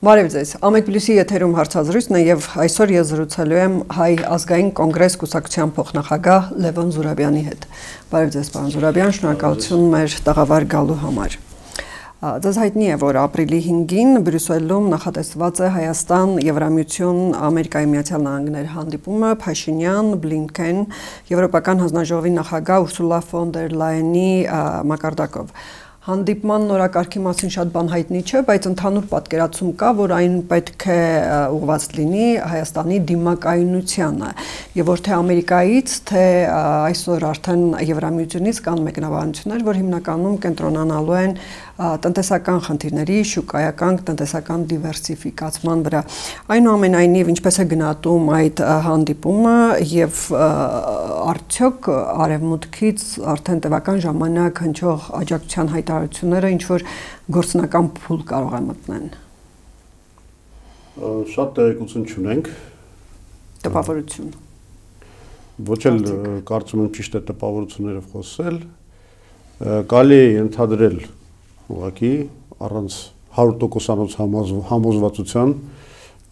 Բարև ձեզ, Ամեկ Պլյուսի եթերում հարցազրույցն է եւ այսօր ես զրուցելու եմ Հայ ազգային կոնգրես կուսակցության փոխնախագահ Լևոն Զուրաբյանի հետ։ Բարև ձեզ, պարոն Զուրաբյան, շնորհակալություն մեր տաղավար գալու համար։ Ձեզ հայտնի է, որ ապրիլի 5-ին Բրյուսելում նախատեսված է Հայաստան, Եվրամիություն, Ամերիկայի Միացյալ Նահանգներ հանդիպումը Փաշինյան, Բլինքեն, Եվրոպական հանձնաժողովի նախագահ Ուրսուլա ֆոն դեր Լայենի մակարդակով։ Հանդիպման նորակարգի մասին շատ բան հայտնի չէ, բայց ընդհանուր պատկերացում կա, որ այն պետք է ուղղված լինի Հայաստանի դիմակայունությանը, եւ որ թե Ամերիկայից, թե այսօր արդեն Եվրամիությունից կան մեկնաբանություններ, որ հիմնականում կենտրոնանալու են տնտեսական խնդիրների, շուկայական տնտեսական դիվերսիֆիկացման վրա։ Այնուամենայնիվ, ինչպես է գնահատում այդ հանդիպումը եւ արդյոք արևմուտքից արդեն տևական ժամանակ հնչող աջակցության հայտարարությունները ինչ որ գործնական փուլ կարող է մտնեն։ Շատ տեղեկություն չունենք։ Տպավորություն։ Ոչ էլ կարծում եմ ճիշտ է տպավորություններով խոսել։ Կարելի է ընդհանրել ուղղակի առանց 100% համոզվածության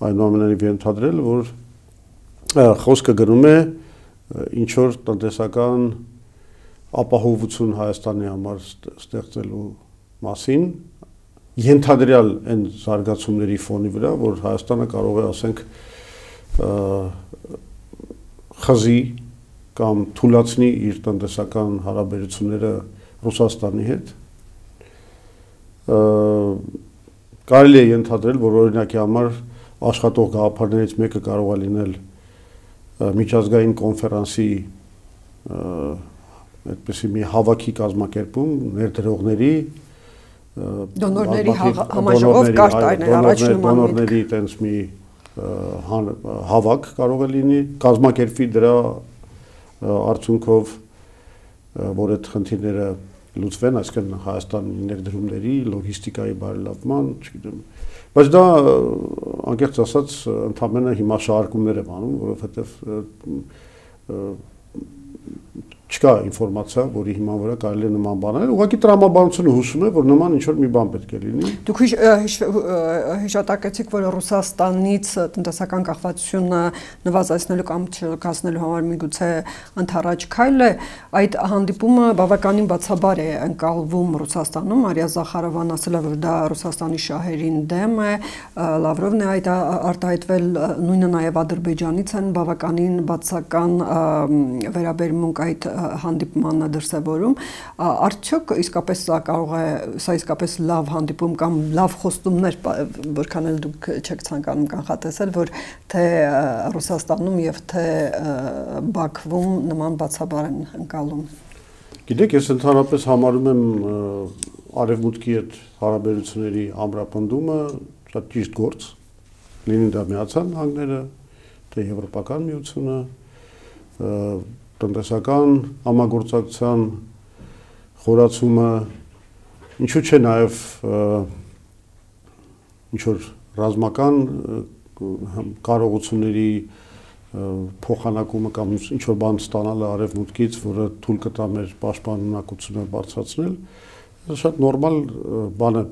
այնուամենայնիվ ընդհանրել, որ խոսքը գնում է ինչ որ տնտեսական ապահովություն Հայաստանի համար ստեղծելու մասին, ենթադրյալ այն զարգացումների ֆոնի վրա, որ Հայաստանը կարող է, ասենք, խզի կամ թուլացնի իր տնտեսական հարաբերությունները Ռուսաստանի հետ։ Կարելի է ենթադրել, որ օրինակի համար աշխատող գաղափարներից մեկը կարող է լինել միջազգային կոնֆերանսի այդպիսի մի հավաքի կազմակերպում ներդրողների դոնորների համաժողով կար տարիներ առաջ նման դոնորների այդպես մի հավաք կարող է լինի կազմակերպվի դրա արդյունքով որ այդ խնդիրները լուծվեն, այսինքն Հայաստանի ներդրումների, լոգիստիկայի բարելավման, չգիտեմ։ Բայց դա անկեղծ ասած ընդհանրապես հիմա շարժումներ եմ անում, որովհետև չկա ինֆորմացիա, որի հիման վրա կարելի է նման բան անել։ Ուղղակի տրամաբանությունը հուշում է, որ նման ինչ-որ մի բան պետք է լինի։ Դուք հիշատակեցիք, որ Ռուսաստանից տնտեսական կախվածությունը նվազեցնելու կամ չլքացնելու համար միգուցե ընդառաջ քայլ է, այդ հանդիպումը բավականին բացաբար է ընկալվում Ռուսաստանում, Մարիա Զախարովան ասել է, որ դա Ռուսաստանի շահերին դեմ է, Լավրովն է այդ արտահայտվել, նույնը նաև Ադրբեջանից են բավականին բացական վերաբերմունք այդ հանդիպմանը դրսևորում, արդյոք իսկապես սա կարող է, սա իսկապես լավ հանդիպում կամ լավ խոստումներ, որքան էլ դուք չեք ցանկանում կանխատեսել, որ թե Ռուսաստանում եւ թե Բաքվում նման բացաբար են ընկալում։ Գիտեք, ես ընդհանրապես համարում եմ արևմուտքի հետ հարաբերությունների ամրապնդումը շատ ճիշտ գործ, լինի դա Միացյալ Նահանգները, թե Եվրոպական միությունը, տնտեսական համագործակցության խորացումը, ինչու՞ չէ նաև ինչ-որ ռազմական կարողությունների փոխանակումը կամ ինչ-որ բան ստանալը արևմուտքից, որը թույլ կտա մեր պաշտպանունակությունը բարձրացնել, շատ նորմալ բան է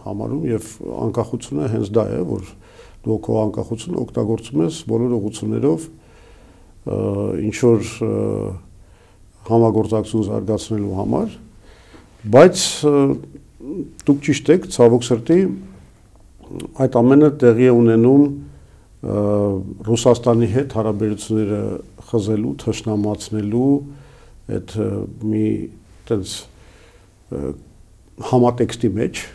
համարում եւ անկախությունը հենց դա է, որ դու քո անկախությունը օգտագործում ես բոլոր ուղղություններով ինչ որ համագործակցություն զարգացնելու համար, բայց դուք ճիշտ եք, ցավոք սրտի այդ ամենը տեղի է ունենում Ռուսաստանի հետ հարաբերությունները խզելու, թշնամացնելու այդ մի այդպես համատեքստի մեջ,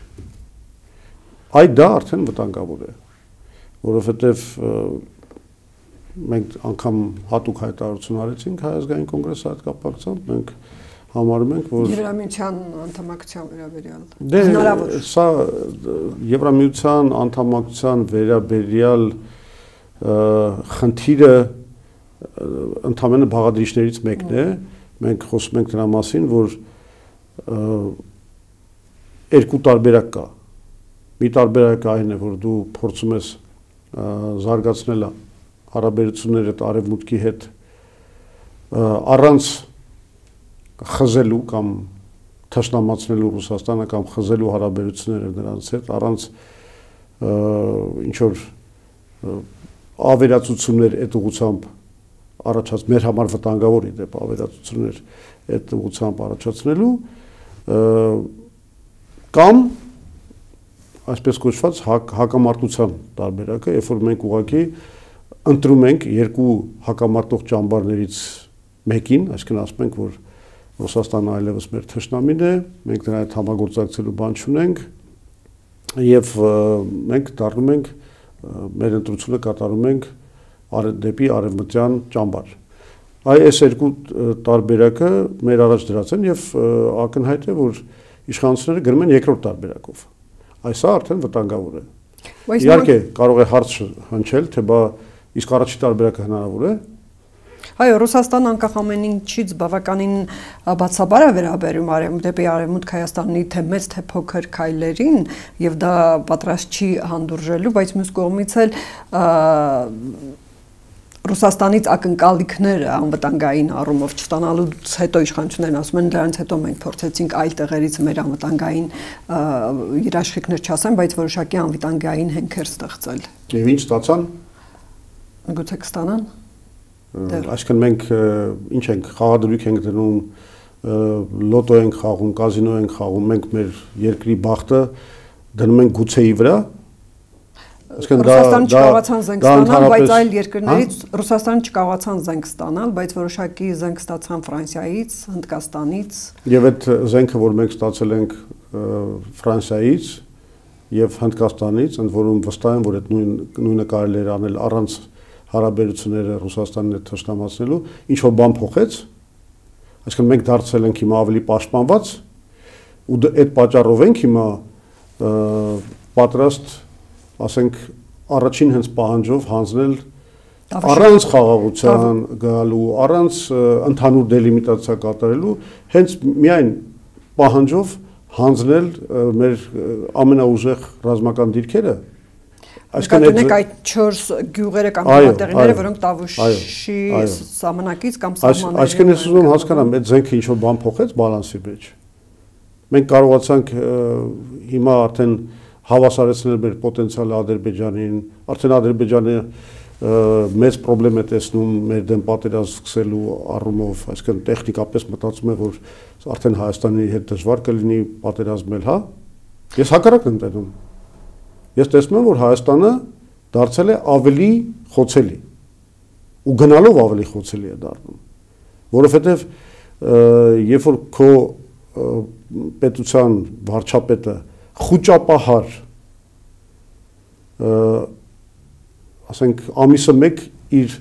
այդ դա արդեն վտանգավոր է, որովհետև մենք անգամ հատուկ հայտարարություն արեցինք Հայ ազգային կոնգրեսի հետ կապակցությամբ, մենք համարում ենք, որ Եվրամիության անդամակցության վերաբերյալ հնարավոր սա Եվրամիության անդամակցության վերաբերյալ խնդիրը ընդհանրապես բաղադրիչներից մեկն է, մենք խոսում ենք դրա մասին, որ երկու տարբերակ կա։ Մի տարբերակը այն է, որ դու փորձում ես զարգացնել հարաբերությունները արևմուտքի հետ առանց խզելու կամ թշնամացնելու Ռուսաստանը կամ խզելու հարաբերությունները նրանց հետ, առանց ինչ որ ավերածություններ այդ ուղղությամբ առաջացած մեր համար վտանգավոր իդեպ ավերածություններ այդ ուղղությամբ առաջացնելու կամ այսպես կոչված հակամարտության տարբերակը, երբ որ մենք ուղղակի ընտրում ենք երկու հակամարտող ճամբարներից մեկին, այսինքն ասում ենք, որ Ռուսաստանը այլևս մեր թշնամին է, մենք նրա հետ համագործակցելու բան չունենք եւ մենք դառնում ենք մեր ընտրությունը կատարում ենք դեպի արևմտյան ճամբար։ Այս երկու տարբերակը մեր առաջ դրած են եւ ակնհայտ է, որ իշխանությունները գրում են երկրորդ տարբերակով։ Այսա արդեն վտանգավոր է։ Իհարկե կարող է հարց հնչել, թե բա իսկ առաջի տարբերակը հնարավոր է։ Այո, Ռուսաստանը անկախ ամեն ինչից բավականին բացաբար է վերաբերում դեպի Արևմուտք Հայաստանի թե մեծ թե փոքր քայլերին եւ դա պատրաստ չի հանդուրժելու, բայց մյուս կողմից էլ Ռուսաստանից ակնկալիքները անվտանգային առումով չստանալուց հետո իշխանություններն ասում են դրանից հետո մենք փորձեցինք այլ տեղերից մեր անվտանգային երաշխիքներ չասեն, բայց որոշակի անվտանգային հենքեր ստեղծել։ Եվ ինչ ստացան։ Գուցե կստանան։ Այսինքն մենք ինչ ենք խաղադրույք ենք դնում, լոտո ենք խաղում, կազինո ենք խաղում, մենք մեր երկրի բախտը դնում ենք գուցեի վրա։ Ռուսաստանը չկարողացան զենք ստանալ, բայց այլ երկրներից Ռուսաստանը չկարողացան զենք ստանալ, բայց որոշակի զենք ստացան Ֆրանսիայից, Հնդկաստանից։ Եվ այդ զենքը, որ մենք ստացել ենք Ֆրանսիայից եւ Հնդկաստանից, ընդ որում վստահ եմ, որ այդ նույնը կարելի էր անել առանց հարաբերությունները Ռուսաստանին հետ թշնամացնելու, ինչ որ բան փոխեց, այսինքն մենք դարձել ենք հիմա ավելի պաշտպանված ու այդ պատճառով ենք հիմա պատրաստ, ասենք, առաջին հենց պահանջով հանձնել առանց խաղաղության գալու, առանց ընդհանուր դելիմիտացիա կատարելու, հենց միայն պահանջով հանձնել մեր ամենաուժեղ ռազմական դիրքերը։ Այսինքն այդ 4 գյուղերը կամ տեղիները, որոնք Տավուշի սահմանակից կամ սահմաններից։ Այսինքն ես ուզում հասկանամ, այդ զենքը ինչ որ բան փոխեց բալանսի մեջ։ Մենք կարողացանք հիմա արդեն հավասարեցնել մեր պոտենցիալը Ադրբեջանին, արդեն Ադրբեջանը մեծ խնդրեմ է տեսնում մեր դեմ պատերազմ սկսելու առումով, այսինքն տեխնիկապես մտածում է, որ արդեն Հայաստանի հետ դժվար կլինի պատերազմել, հա։ Ես հակառակն եմ տեսնում։ Ես տեսնում եմ, որ Հայաստանը դարձել է ավելի խոցելի ու գնալով ավելի խոցելի է դառնում, որովհետև երբ որ քո պետության վարչապետը խոճապահար, ասենք ամիսը մեկ իր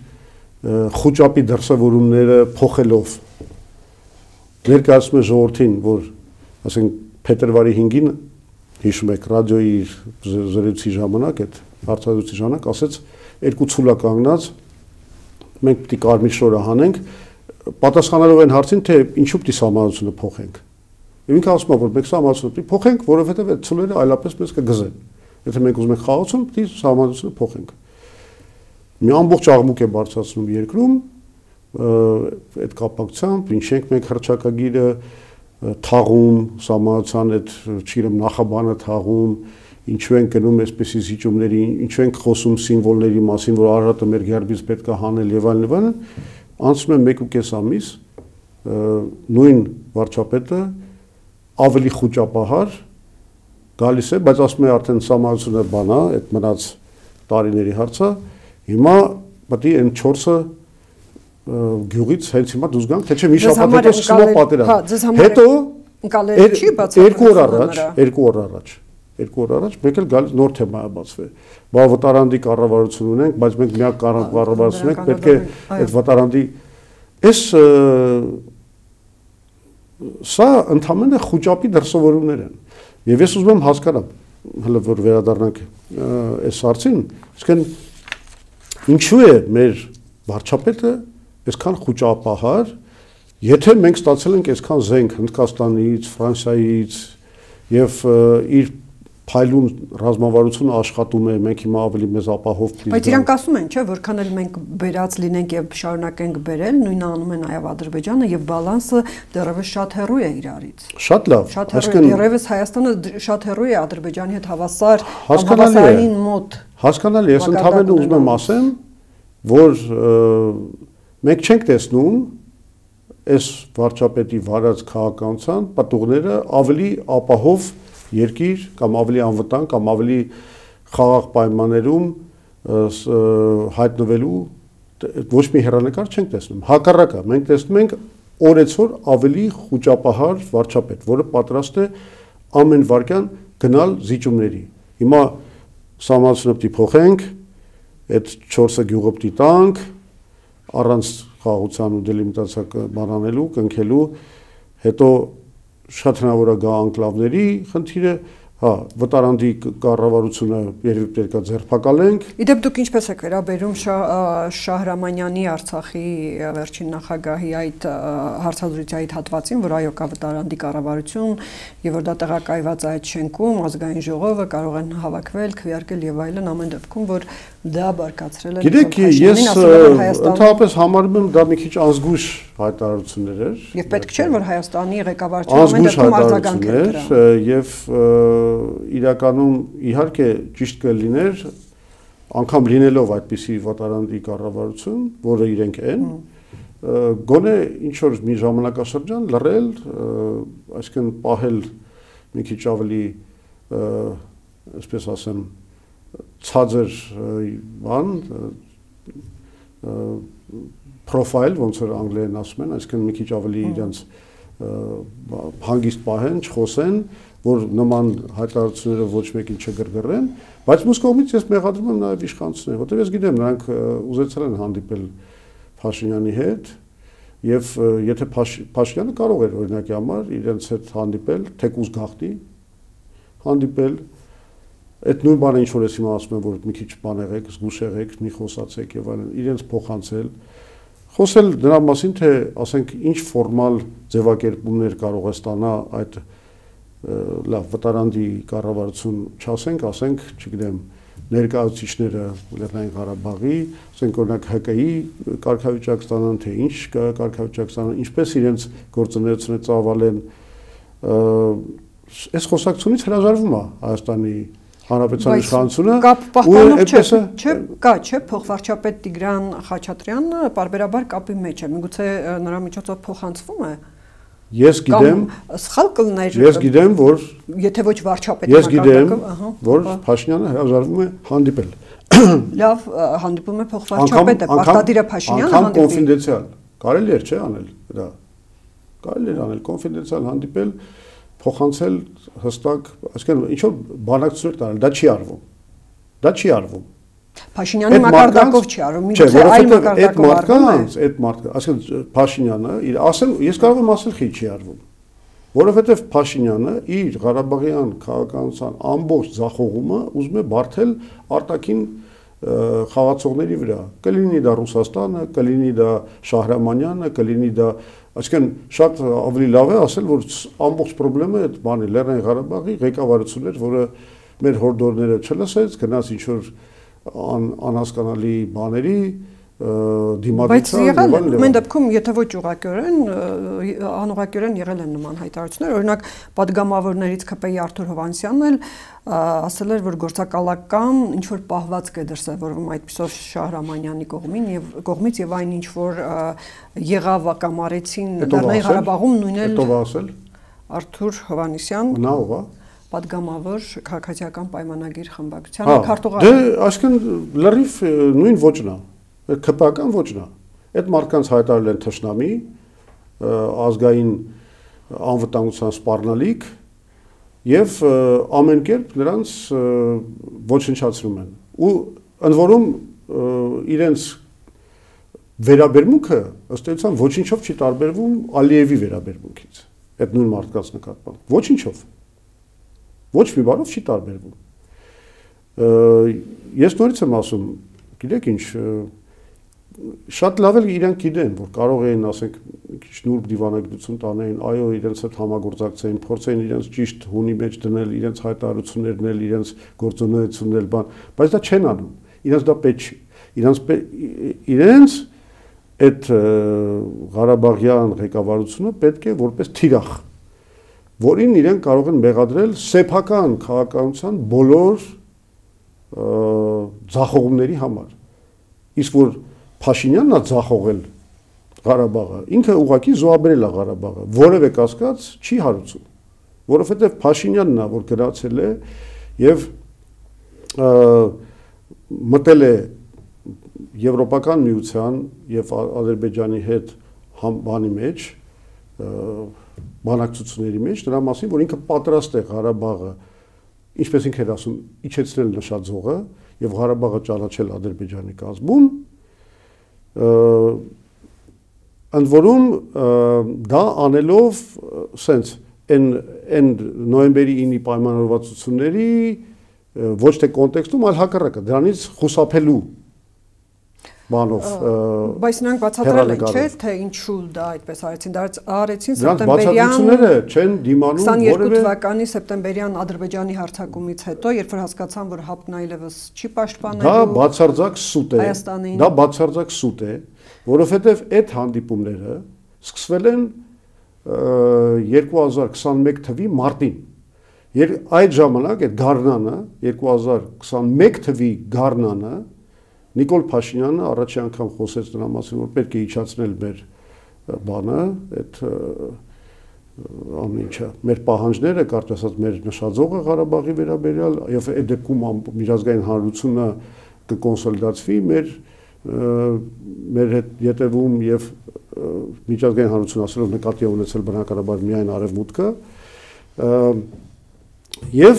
խոճապի դրսևորումները փոխելով ներկայացնում է ժողովրդին, որ ասենք փետրվարի 5-ին հիշում եք ռադիոյի զրույցի ժամանակ, այդ հարցազրույցի ժամանակ ասեց երկու ցուլա կանգնած մենք պիտի կարմիր շորը հանենք, պատասխանելով այն հարցին, թե ինչու պիտի սահմանությունը փոխենք։ Եվ ինքը ասում է, որ մենք սահմանությունը պիտի փոխենք, որովհետև այդ ցուլերը այլապես մեզ կգզեն։ Եթե մենք ուզում ենք խաղացում, պիտի սահմանությունը փոխենք։ Մի ամբողջ աղմուկ է բարձրացնում երկրում, այդ կապակցությամբ, ինչ ենք մենք հռչակագիրը թաղում, սահմանության այդ չգիտեմ նախաբանը թաղում, ինչու են գնում այսպիսի զիջումների, ինչու են խոսում սիմվոլների մասին, որ Արարատը մեր գերբից պետք է հանել եւ այլն, անցնում է 1.5 ամիս, նույն վարչապետը ավելի խոճապահար գալիս է, բայց ասում է արդեն սահմանությունը բան է, այդ մնաց տարիների հարցը, հիմա պետք է այն 4-ը գյուղից հենց հիմա դուրս գանք, թե չէ մի շաբաթ հետո սկսում է պատերազմ։ Հետո երկու օր առաջ մեկ էլ գալիս նոր թեմա է բացվել։ Բա վտարանդի կառավարություն ունենք, բայց մենք միակ կառավարություն ենք, պետք է այդ վտարանդի սա ընդհանրապես խոճապի դրսևորումներ են։ Եվ ես ուզում եմ հասկանալ, հələ որ վերադառնանք այս հարցին, իսկն ինչու է մեր վարչապետը այսքան խոճապահար, եթե մենք ստացել ենք այսքան զենք Հնդկաստանից, Ֆրանսիայից եւ իր փայլուն ռազմավարությունը աշխատում է, մենք հիմա ավելի մեծ ապահով պիտի։ Բայց իրանք ասում են, չէ, որքան էլ մենք բերած լինենք եւ շարունակենք բերել, նույնը անում է նաեւ Ադրբեջանը եւ բալանսը դեռևս շատ հեռու է իրարից։ Շատ լավ։ Այսինքն դեռևս Հայաստանը շատ հեռու է Ադրբեջանի հետ հավասարային մոտ։ Հասկանալի է, ես ընդհանրապես ուզում եմ ասեմ, որ մենք չենք տեսնում այս վարչապետի վարած քաղաքականության պատուղները ավելի ապահով երկիր կամ ավելի անվտանգ կամ ավելի խաղաղ պայմաններում հայտնվելու ոչ մի հեռանկար չենք տեսնում։ Հակառակը, մենք տեսնում ենք օրեցօր ավելի խոճապահար վարչապետ, որը պատրաստ է ամեն վարքյան գնալ զիջումների։ Հիմա սահմանությունը պիտի փոխենք, այդ 4 գյուղը պիտի տանք, առանց խաղաղության ու դելիմիտացիա բանանելու, կնքելու, հետո շատ հնարավոր է գա անկլավների խնդիրը, հա, վտարանդի կառավարությունը երևի պետք է ձերբակալենք։ Իդեպ դուք ինչպես եք վերաբերում Շահրամանյանի Արցախի վերջին նախագահի այդ հարցազրույցի այդ հատվածին, որ այո կա վտարանդի կառավարություն եւ որ դա տեղակայված է այդ շենքում, ազգային ժողովը կարող են հավաքվել, քվեարկել եւ այլն, ամեն դեպքում որ դա բարկացրել է։ Գիտեք, ես ընդհանրապես համարում եմ դա մի քիչ ազգույշ հայտարարություններ էր։ Եվ պետք չէր որ Հայաստանի ղեկավարությունը ամեն դեպքում արձագանքեր դրան։ Եվ իրականում իհարկե ճիշտ կլիներ անգամ լինելով այդպիսի վտարանդի կառավարություն, որը իրենք են, գոնե ինչ որ մի ժամանակաշրջան լռել, այսինքն պահել մի քիչ ավելի, այսպես ասեմ, ցածր բան պրոֆայլ, ոնց որ անգլերեն ասում են, այսինքն մի քիչ ավելի իրենց հանգիստ պահեն, չխոսեն, որ նման հայտարարությունները ոչ մեկին չգրգռեն, բայց մյուս կողմից ես մեղադրում եմ նաև իշխանություններին, որտեղ ես գիտեմ, նրանք ուզեցել են հանդիպել Փաշինյանի հետ, եւ եթե Փաշինյանը կարող էր օրինակի համար իրենց հետ հանդիպել, թեկուզ գաղտնի հանդիպել, այդ նույն բանը ինչ որ ես հիմա ասում եմ, որ մի քիչ բան եղեք, զգուշ եղեք, մի խոսացեք եւ այլն, իրենց փոխանցել, խոսել դրա մասին, թե ասենք ինչ ֆորմալ ձևակերպումներ կարող է ստանա այդ լավ վտարանդի կառավարություն, չասենք, ասենք, չգիտեմ, ներկայացուցիչները Լեռնային Ղարաբաղի, ասենք օրինակ ՀԿ-ի կարգավիճակ ստանան, թե ինչ կարգավիճակ ստանան, ինչպես իրենց գործունեությունը ծավալեն, այս խոսակցությունից հրաժարվում է Հայաստանի Հանրապետության իշխանությունը ու այդպես չէ, փոխվարչապետ Տիգրան Խաչատրյանը պարբերաբար կապի մեջ է, միգուցե նրա միջոցով փոխանցվում է։ Ես գիտեմ, սխալ կլներ։ Ես գիտեմ, որ եթե ոչ վարչապետի Ես գիտեմ, որ Փաշինյանը հրաժարվում է հանդիպել։ Լավ, հանդիպում է փոխվարչապետը, պարտադիր է Փաշինյանը հանդիպի։ Անգամ կոնֆիդենցիալ։ Կարելի էր, չէ, անել դա։ Կարելի էր անել կոնֆիդենցիալ հանդիպել, փոխանցել հստակ, այսինքն ինչ որ բանակցություններ տանել, դա չի արվում։ Դա չի արվում։ Փաշինյանի մակարդակով չի արվում, միգուցե այլ մակարդակով արվում է։ Այդ մարդը, այսինքն Փաշինյանը, ես կարող եմ ասել խի չի արվում, որովհետև Փաշինյանը իր Ղարաբաղյան քաղաքականության ամբողջ ձախողումը ուզում է բարթել արտաքին խաղացողների վրա։ Կլինի դա Ռուսաստանը, կլինի դա Շահրամանյանը, կլինի դա, այսինքն շատ ավելի լավ է ասել, որ ամբողջ խնդրը այդ բանի Լեռնային Ղարաբաղի ղեկավարությունն էր, որը մեր հորդորները չլսեց, գնաց ինչ որ անհասկանալի բաների դիմադրության։ Բայց եղել դեպքում, եթե ոչ ուղղակիորեն, անուղղակիորեն եղել են նման հայտարարություններ, օրինակ падգամավորներից ԿՊ-ի Արթուր Հովհաննիսյանն էլ ասել էր, որ գործակալական ինչ որ պահվածք է դրսևորվում այդպիսով Շահրամանյանի կողմից եւ այն ինչ որ եղավ կամ արեցին Լեռնային Ղարաբաղում նույնն էլ Ո՞վ ասել։ Արթուր Հովհաննիսյան։ Նա ով է։ Պատգամավոր քաղաքացիական պայմանագիր խմբակցության քարտուղար։ Դե այսինքն լրիվ նույն ոճն է, ԿՊ-ական ոճն է։ Այդ մարդկանց հայտարարել են թշնամի, ազգային անվտանգության սպառնալիք եւ ամեն կերպ նրանց ոչնչացնում են։ Ու ընդ որում իրենց վերաբերմունքը ըստ էության ոչինչով չի տարբերվում Ալիևի վերաբերմունքից։ Այդ նույն մարդկանց նկատմամբ ոչինչով։ Ոչ մի բանով չի տարբերվում։ Ես նորից եմ ասում, գիտեք ինչ, շատ լավ էլ իրանք գիտեն, որ կարող էին, ասենք, մի քիչ նուրբ դիվանագիտություն տանեին, այո, իրենց հետ համագործակցեին, փորձեին իրենց ճիշտ հունի մեջ դնել, իրենց հայտարարություններն էլ, իրենց գործունեությունն էլ բան, բայց դա չեն անում։ Իրենց դա պետք չի։ Իրենց այդ Ղարաբաղյան ղեկավարությունը պետք է որպես թիրախ, որին իրենք կարող են մեղադրել սեփական քաղաքականության բոլոր ձախողումների համար։ Իսկ որ Փաշինյանն է ձախողել Ղարաբաղը, ինքը ուղղակի զոհաբերել է Ղարաբաղը, որևէ կասկած չի հարուցում, որովհետև Փաշինյանն է, որ գնացել է եւ մտել է Եվրոպական միության եւ Ադրբեջանի հետ բանի մեջ, բանակցությունների մեջ, նրա մասին, որ ինքը պատրաստ է Ղարաբաղը, ինչպես ինքը էր ասում, իջեցնել նշաձողը եւ Ղարաբաղը ճանաչել Ադրբեջանի կազմում, ընդ որում դա անելով սենց այն նոյեմբերի 9-ի պայմանավորվածությունների ոչ թե կոնտեքստում, այլ հակառակը, դրանից խուսափելու բանով բայց նրանք բացատրել են, չէ՞, թե ինչու դա այդպես արեցին, դա արեցին սեպտեմբերյան չեն դիմանում 22 թվականի սեպտեմբերյան Ադրբեջանի հարձակումից հետո, երբ որ հասկացան, որ ՀԱՊԿ-ն այլևս չի պաշտպանելու, դա բացարձակ սուտ է, դա բացարձակ սուտ է, որովհետև այդ հանդիպումները սկսվել են 2021 թվականի մարտին։ Այդ ժամանակ այդ գարնանը 2021 թվականի գարնանը Նիկոլ Փաշինյանը առաջի անգամ խոսեց նրա մասին, որ պետք է իջացնել մեր բանը, այդ ամեն ինչը, մեր պահանջները, կարճ ասած մեր նշաձողը Ղարաբաղի վերաբերյալ եւ այդ դեպքում միջազգային հանրությունը կկոնսոլիդացվի մեր հետ յետևում եւ միջազգային հանրությունը ասելով նկատի ունեցել բնականաբար միայն արևմուտքը եւ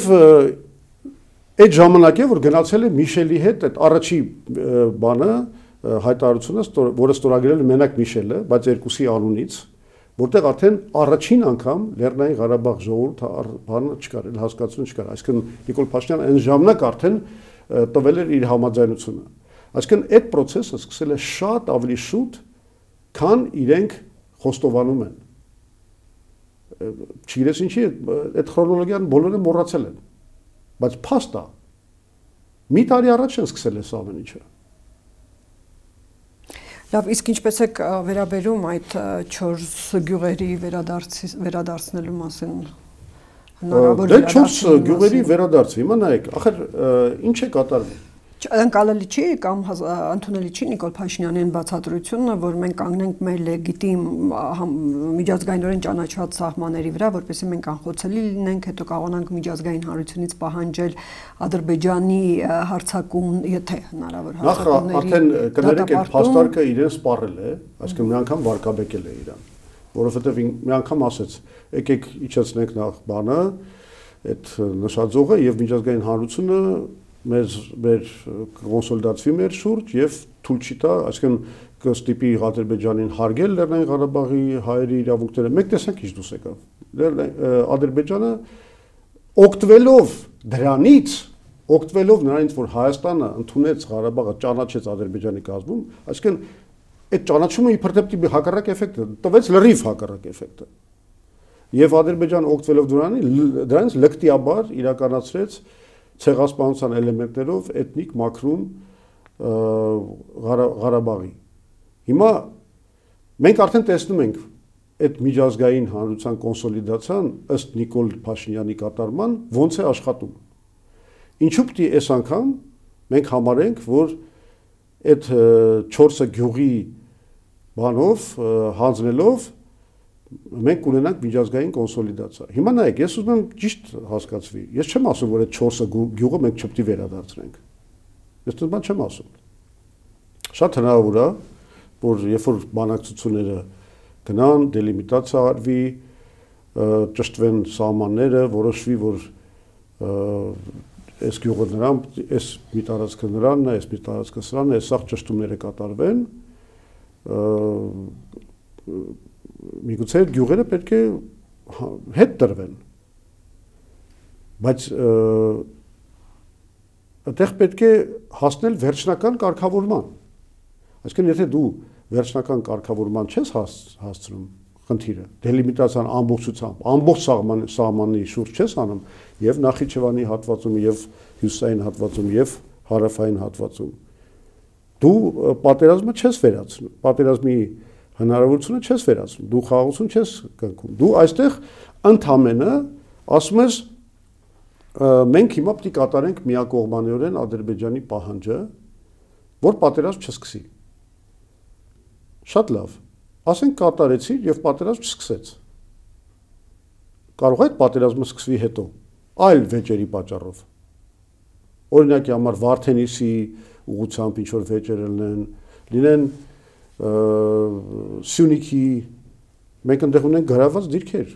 այդ ժամանակ է, որ գնացել է Միշելի հետ այդ առաջի բանը, հայտարարությունը, որը ստորագրել է մենակ Միշելը, բայց երկուսի անունից, որտեղ արդեն առաջին անգամ Լեռնային Ղարաբաղ ժողովուրդը բանը չկար, հասկացություն չկար, այսինքն Նիկոլ Փաշինյանը այն ժամանակ արդեն տվել էր իր համաձայնությունը։ Այսինքն այդ process-ը սկսել է շատ ավելի շուտ, քան իրենք խոստովանում են։ Չգիտես ինչի, այդ քրոնոլոգիան բոլորը մոռացել են։ Բայց փաստա մի տարի առաջ են սկսել այս ամեն ինչը։ Լավ, իսկ ինչպես է վերաբերում այդ 4 գյուղերի վերադարձնելու մասին հնարավոր դե 4 գյուղերի վերադարձը, հիմա նայեք, ախր ինչ է կատարվում։ Ընկալելի չի կամ ընդունելի չի Նիկոլ Փաշինյանի բացատրությունը, որ մենք կանգնենք մեր լեգիտիմ միջազգայինորեն ճանաչված սահմանների վրա, որպեսզի մենք անխոցելի լինենք, հետո կարողանանք միջազգային հանրությունից պահանջել Ադրբեջանի հարձակում, եթե հնարավոր հարձակումների։ Նախ արդեն կներեք այդ փաստարկը իրեն սպառել է, այսինքն մի անգամ վարկաբեկել է իրան, որովհետև մի անգամ ասեց, եկեք իջեցնենք նախ բանը, այդ նշաձողը եւ միջազգային հանրությունը մեր կոնսոլիդացվի մեր շուրջ եւ թույլ չի տա, այսինքն կստիպի Ադրբեջանին հարգել Լեռնային Ղարաբաղի հայերի իրավունքները։ Մեկ տեսանք ինչ դուս եկավ։ Ադրբեջանը օգտվելով դրանից, օգտվելով նրանից, որ Հայաստանը ընդունեց Ղարաբաղը, ճանաչեց Ադրբեջանի կազմում, այսինքն այդ ճանաչումը իբր դեպի հակառակ էֆեկտ տվեց լրիվ հակառակ էֆեկտը։ Եվ Ադրբեջանը օգտվելով դրանից լկտիաբար իրականացրեց ցեղասպանության էլեմենտներով էթնիկ մաքրում Ղարաբաղի։ Հիմա մենք արդեն տեսնում ենք այդ միջազգային հանրության կոնսոլիդացիան ըստ Նիկոլ Փաշինյանի կատարման ոնց է աշխատում։ Ինչու՞ պիտի այս անգամ մենք համարենք, որ այդ 4 գյուղի բանով հանձնելով մենք կունենանք միջազգային կոնսոլիդացիա։ Հիմա նայեք, ես ուզում եմ ճիշտ հասկացվի։ Ես չեմ ասում, որ այդ 4 գյուղը մենք չպետք է վերադարձնենք։ Ես դա չեմ ասում։ Շատ հնարավոր է, որ երբ որ բանակցությունները գնան, դելիմիտացիա արվի, ճշտվեն սահմանները, որոշվի, որ այս գյուղը նրան, այս մի տարածքը նրանն է, այս մի տարածքը սրանն է, սաղ ճշտումները կատարվեն, միգուցե գյուղերը պետք է հետ տրվեն, բայց այդտեղ պետք է հասնել վերջնական կարգավորման, Այսինքն եթե դու վերջնական կարգավորման չես հասցնում խնդիրը, դելիմիտացիան ամբողջությամբ, ամբողջ սահմանի շուրջ չես անում եւ Նախիջևանի հատվածում եւ հյուսային հատվածում եւ հարավային հատվածում, դու պատերազմը չես վերացնում, պատերազմի հնարավորությունը չես վերացնում, դու խաղաղություն չես կնքում, դու այստեղ ընդհանրապես ասում ես մենք հիմա պետք է կատարենք միակողմանիորեն Ադրբեջանի պահանջը, որ պատերազմ չսկսի։ Շատ լավ, ասենք կատարեցի եւ պատերազմ չսկսեց։ Կարող է այդ պատերազմը սկսվի հետո, այլ վեճերի պատճառով։ Օրինակի համար Վարդենիսի ուղղությամբ ինչ որ վեճեր լինեն Սյունիքի, մենք այնտեղ ունենք գրաված դիրքեր,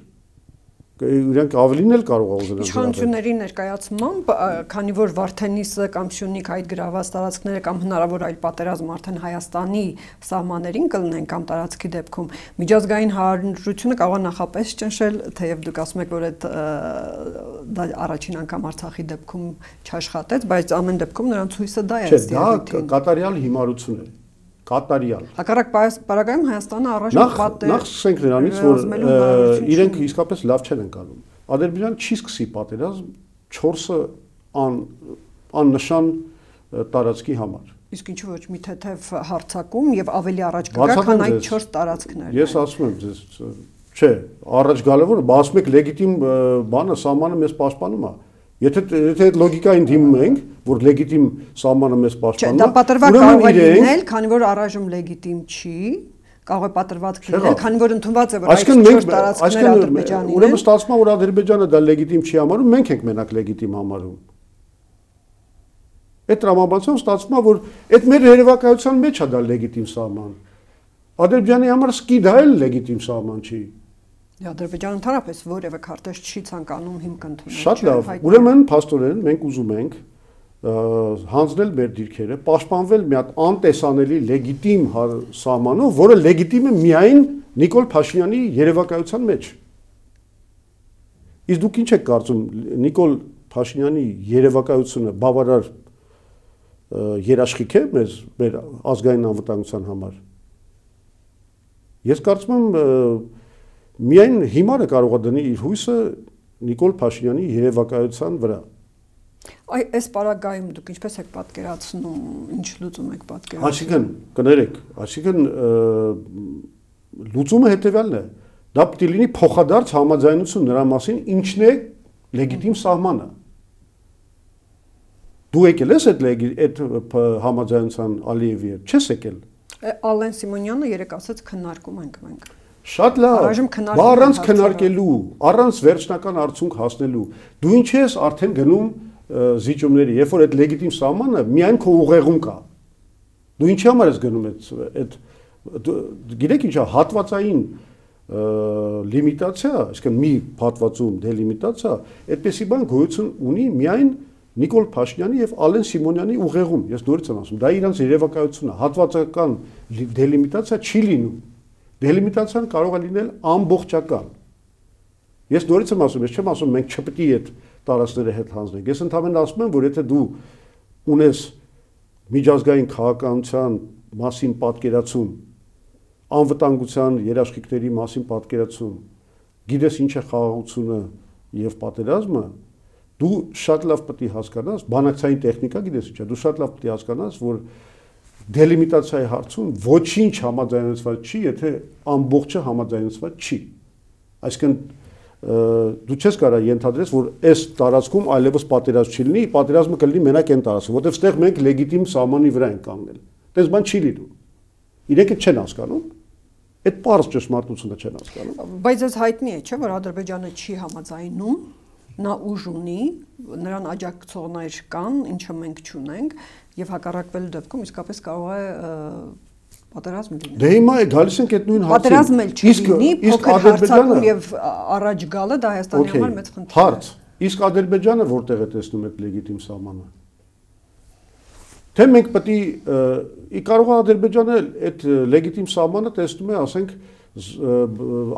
իրենք ավելին էլ կարող է ուզենան։ Իշխանությունների ներկայացմամբ, քանի որ Վարդենիսը կամ Սյունիք այդ գրաված տարածքները կամ հնարավոր այլ պատերազմ արդեն Հայաստանի սահմաններին կլինեն կամ տարածքի դեպքում, միջազգային հանրությունը կարող է նախապես ճնշել, թեև դուք ասում եք, որ դա առաջին անգամ Արցախի դեպքում չաշխատեց, բայց ամեն դեպքում նրանց հույսը դա է։ Չէ, դա կատարյալ հիմարություն է։ Կատարյալ։ Հակառակ պարագայում Հայաստանը առայժմ պատեր։ Նախ սկսենք նրանից, որ իրենք իսկապես լավ չեն ընկալում։ Ադրբեջանը չի սկսի պատերազմ 4-ը աննշան տարածքի համար։ Իսկ ինչու ոչ մի թեթև հարձակում եւ ավելի առաջ կգա, քան այդ 4 տարածքներն։ Ես ասում եմ ձեզ, չէ, առաջ գալը որ ասում եք լեգիտիմ բանը սահմանը մեզ պաշտպանում է։ Եթե այդ լոգիկային դիմում ենք, որ լեգիտիմ սահմանը մեզ պաշտպանում է, դա պատրվակ կարող է լինել, քանի որ առայժմ լեգիտիմ չի, կարող է պատրվակ լինել, քանի որ ընդունված է, որ այդ 4 տարածքները Ադրբեջանի են։ Ուրեմն ստացվում է, որ Ադրբեջանը դա լեգիտիմ չի համարում, մենք ենք մենակ լեգիտիմ համարում։ Այդ տրամաբանությամբ ստացվում է, որ այդ մեր երևակայության մեջ է դա լեգիտիմ սահման։ Ադրբեջանի համար սկի դա էլ լեգիտիմ սահման չի։ Ադրբեջանը ընդհանրապես որևէ քարտեզ չի ցանկանում հիմք ընդունել։ Շատ լավ։ Ուրեմն փաստորեն մենք ուզում ենք հանձնել մեր դիրքերը, պաշտպանվել մի հատ անտեսանելի լեգիտիմ սահմանով, որը լեգիտիմ է միայն Նիկոլ Փաշինյանի երևակայության մեջ։ Իսկ դուք ինչ եք կարծում, Նիկոլ Փաշինյանի երևակայությունը բավարար երաշխիք է մեր ազգային անվտանգության համար։ Ես կարծում եմ միայն հիմարը կարող է դնի իր հույսը Նիկոլ Փաշինյանի երևակայության վրա։ Այս պարագայում դուք ինչպես եք պատկերացնում, ինչ լուծում եք պատկերացնում։ Այսինքն, կներեք, այսինքն լուծումը հետևյալն է։ Դա պետք է լինի փոխադարձ համաձայնություն նրա մասին, ինչն է լեգիտիմ սահմանը։ Դու եկել ես այդ համաձայնության Ալիևի հետ, չես եկել։ Ալեն Սիմոնյանը երեք ասաց քննարկում ենք մենք։ Շատ լավ, առանց քննարկելու, առանց վերջնական արդյունք հասնելու, դու ինչ ես արդեն գնում զիջումների, երբ որ այդ լեգիտիմ սահմանը միայն քո ուղեղում կա։ Դու ինչի համար ես գնում այդ գիտեք ինչա հատվածային լիմիտացիա, այսինքն մի հատվածում դելիմիտացիա, այդպեսի բան գոյություն ունի միայն Նիկոլ Փաշինյանի եւ Ալեն Սիմոնյանի ուղեղում։ Ես նորից եմ ասում, դա իրանց երևակայությունն է, հատվածական դելիմիտացիա չի լինում։ Դելիմիտացիան կարող է լինել ամբողջական։ Ես նորից եմ ասում, ես չեմ ասում մենք չպետք է այդ տարածքները հետ հանձնենք։ Ես ընդհանրապես ասում եմ, որ եթե դու ունես միջազգային քաղաքականության մասին պատկերացում, անվտանգության երաշխիքների մասին պատկերացում, գիտես ինչ է խաղաղությունը եւ պատերազմը, դու շատ լավ պետք է հասկանաս, բանակցային տեխնիկա գիտես ինչ է, դու շատ լավ պետք է հասկանաս, որ դելիմիտացիայի հարցում ոչինչ համաձայնեցված չի, եթե ամբողջը համաձայնեցված չի։ Այսինքն դու չես կարող ենթադրես, որ այս տարածքում այլևս պատերազմ չի լինի, պատերազմը կլինի մենակ այն տարածքում, որտեղ ստեղ մենք լեգիտիմ սահմանի վրա ենք կանգնել։ Դες բան չի լինում։ Իրենք չեն հասկանում, այդ պարզ ճշմարտությունը չեն հասկանում։ Բայց այս հայտնի է, չէ՞, որ Ադրբեջանը չի համաձայնում, նա ուժ ունի, նրան աջակցողներ կան, ինչը մենք չունենք, եւ հակառակվելու դեպքում իսկապես կարող է պատերազմ լինել։ Դե հիմա է գալիս ենք այդ նույն հարցին։ Պատերազմը չլինի, փոքր հարձակում եւ առաջ գալը դա Հայաստանի համար մեծ խնդիր է։ Հարց. իսկ Ադրբեջանը որտեղ է տեսնում այդ լեգիտիմ սահմանը։ Թե մենք պետք է կարող է Ադրբեջանը այդ լեգիտիմ սահմանը տեսնում է, ասենք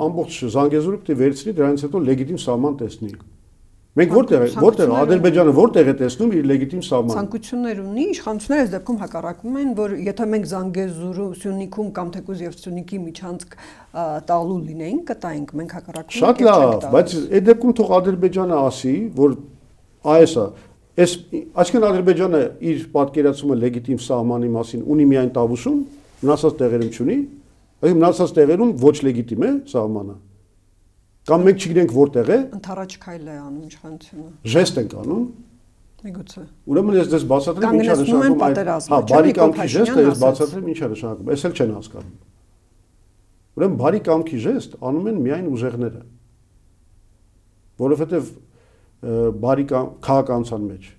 ամբողջ Զանգեզուրը պետք է վերցնի, դրանից հետո լեգիտիմ սահման տեսնի։ Մենք որտեղ Ադրբեջանը որտեղ է տեսնում իր լեգիտիմ սահմանը։ Ցանկություններ ունի, իշխանությունները այս դեպքում հակառակում են, որ եթե մենք Զանգեզուրը, Սյունիքում կամ թեկուզ եւ Սյունիքի միջանցք տալու լինեին, կտայինք, մենք հակառակում ենք։ Շատ լավ, բայց այդ դեպքում թող Ադրբեջանը ասի, որ այս այսինքն Ադրբեջանը իր պատկերացումը լեգիտիմ սահմանի մասին ունի միայն Տավուշում, մնացած տեղերում չունի, այլ մնացած տեղերում ոչ լեգիտիմ է սահմանը։ Կամ մենք չգիտենք որտեղ է։ Ընթառաջ քայլ է անում իշխանությունը։ Ժեստ ենք անում։ Միգուցե։ Ուրեմն ես դες բացատրեմ ինչ է նշանակում։ Հա, բարի կամքի ժեստը ես բացատրեմ ինչ է նշանակում։ Էս էլ չեն հասկանում։ Ուրեմն բարի կամքի ժեստ անում են միայն ուժեղները։ Որովհետև բարի քաղաքացիական մեջ,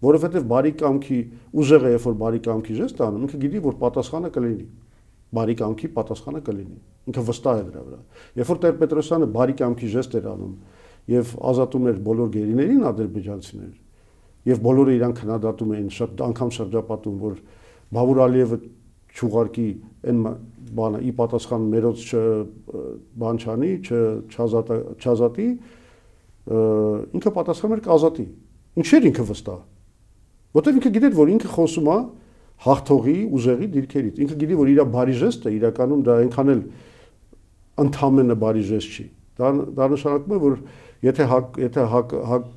որովհետև բարի կամքի ուժեղը երբ որ բարի կամքի ժեստ անում, ինքը գիտի որ պատասխանը կլինի։ Բարի կամքի պատասխանը կլինի։ Ինքը վստահ է դրա վրա։ Երբ որ Տեր-Պետրոսյանը բարի կամքի ժեստ էր անում եւ ազատում էր բոլոր գերիներին ադրբեջանցիներ, եւ բոլորը իրան քննադատում էին, շատ անգամ շրջապատում, որ Բավուր Ալիևը չուղարկի այն բանը ի պատասխան մերոց բան չանի, չազատի, ինքը պատասխանում էր կազատի։ Ինչեր ինքը վստահ։ Որտեւ ինքը գիտեր, որ ինքը խոսում է հաղթողի ուժեղի դիրքերից։ Ինքը գիտի, որ իր բարի ժեստը իրականում դա այնքան էլ ընդհանրապես բարի ժեստ չի։ Դա նշանակում է, որ եթե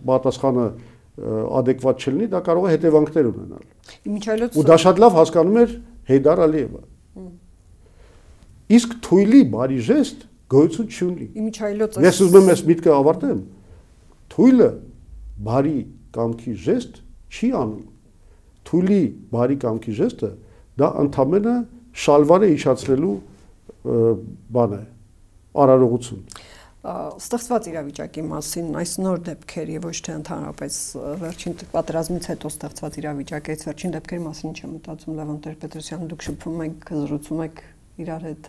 պատասխանը adekvat չլինի, դա կարող է հետևանքներ ունենալ։ Ու դա շատ լավ հասկանում էր Հեյդար Ալիևը։ Իսկ թույլի բարի ժեստ գոյություն չունի։ Ես ուզում եմ այս միտքը ավարտեմ։ Թույլը բարի կամքի ժեստ չի անում։ Թույլի բարի կամքի ժեստը դա ընդհանրապես շալվարը իջացնելու բան է, արարողություն։ Ստեղծված իրավիճակի մասին այս նոր դեպքեր եւ ոչ թե ընդհանրապես վերջին պատերազմից հետո ստեղծված իրավիճակից վերջին դեպքերի մասին ինչ է մտածում Լևոն Տեր-Պետրոսյանը, դուք շփվում եք, զրուցում եք իրար հետ։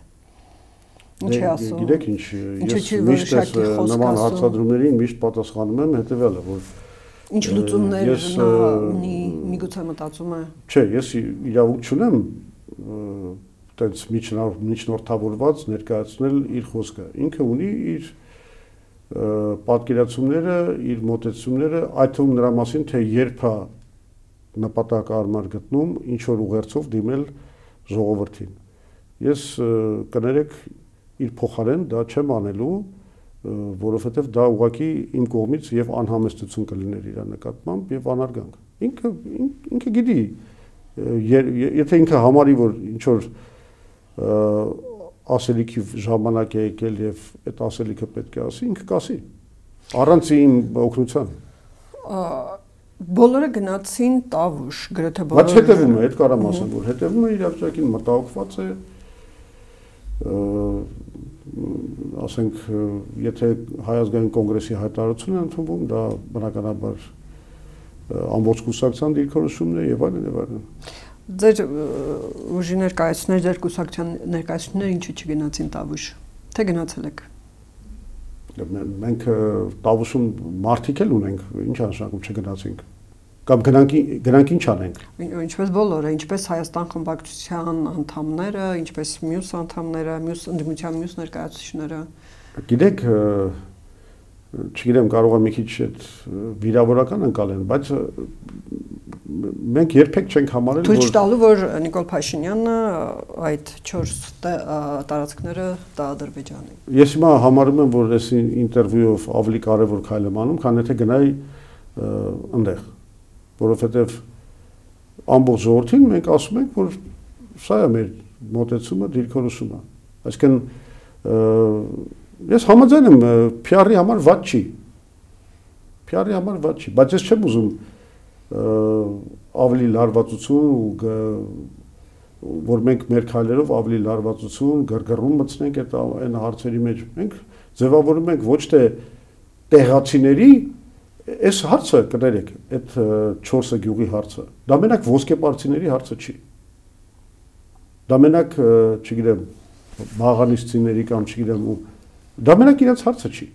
Ինչ է ասում։ Գիտեք ինչ, ես միշտ նման հարցադրումներին միշտ պատասխանում եմ հետեւյալը, որ ինչ լուծումներ նա ունի, միգուցե մտածում է։ Չէ, ես իրավունք չունեմ այդպես միջնորդավորված ներկայացնել իր խոսքը։ Ինքը ունի իր պատկերացումները, իր մոտեցումները, այդ թվում նրա մասին, թե երբ է նպատակարար գտնում ինչ որ ուղերձով դիմել ժողովրդին։ Ես կներեք իր փոխարեն դա չեմ անելու, որովհետև դա ուղղակի իմ կողմից եւ անհամեստություն կլիներ իր նկատմամբ եւ անարգանք։ Ինքը գիտի, եթե ինքը համարի, որ ինչ որ ասելիքի ժամանակ է եկել եւ այդ ասելիքը պետք է ասի, ինքը կասի։ Առանց իմ օգնության։ Բոլորը գնացին Տավուշ, գրեթե բոլորը։ Բայց հետևում է, այդ կարամ ասեմ, որ հետևում է իրավիճակին, մտահոգված է, ասենք, եթե Հայ ազգային կոնգրեսի հայտարարություն է ընդունվում, դա բնականաբար ամբողջ կուսակցության դիրքորոշումն է եւ այլն եւ այլն։ Ձեր ուժի ներկայացուցիչներ, ձեր կուսակցության ներկայացուցիչները ինչու չգնացին Տավուշ, թե գնացել եք։ Մենք Տավուշում մարդիկ էլ ունենք, ինչ նշանակում չգնացինք։ Կամ գնանք ինչ անենք։ Ինչպես բոլորը, ինչպես Հայաստան խմբակցության անդամները, ինչպես մյուս անդամները, մյուս ընդդիմության մյուս ներկայացուցիչները։ Գիտեք, չգիտեմ, կարող է մի քիչ այդ վիրավորական ընկալեն, բայց մենք երբեք չենք համարել, որ Թույլ տալու, որ Նիկոլ Փաշինյանը այդ 4 տարածքները տա Ադրբեջանին։ Ես հիմա համարում եմ, որ այս ինտերվյուով ավելի կարևոր քայլ եմ անում, քան եթե գնայի այնտեղ, որովհետև ամբողջ ժողովրդին մենք ասում ենք, որ սա է մեր մոտեցումը, դիրքորոշումը։ Այսինքն ես համաձայն եմ, PR-ի համար վատ չի։ PR-ի համար վատ չի, բայց ես չեմ ուզում ավելի լարվածություն որ մենք մեր քայլերով ավելի լարվածություն, գրգռում մտցնենք այն հարցերի մեջ։ Մենք ձևավորում ենք ոչ թե տեղացիների այս հարցը կներեք, այդ 4 գյուղի հարցը, դա մենակ ոսկեպարծիների հարցը չի։ Դա մենակ, չգիտեմ, մաղանիստիների կամ չգիտեմ ու դա մենակ իրենց հարցը չի։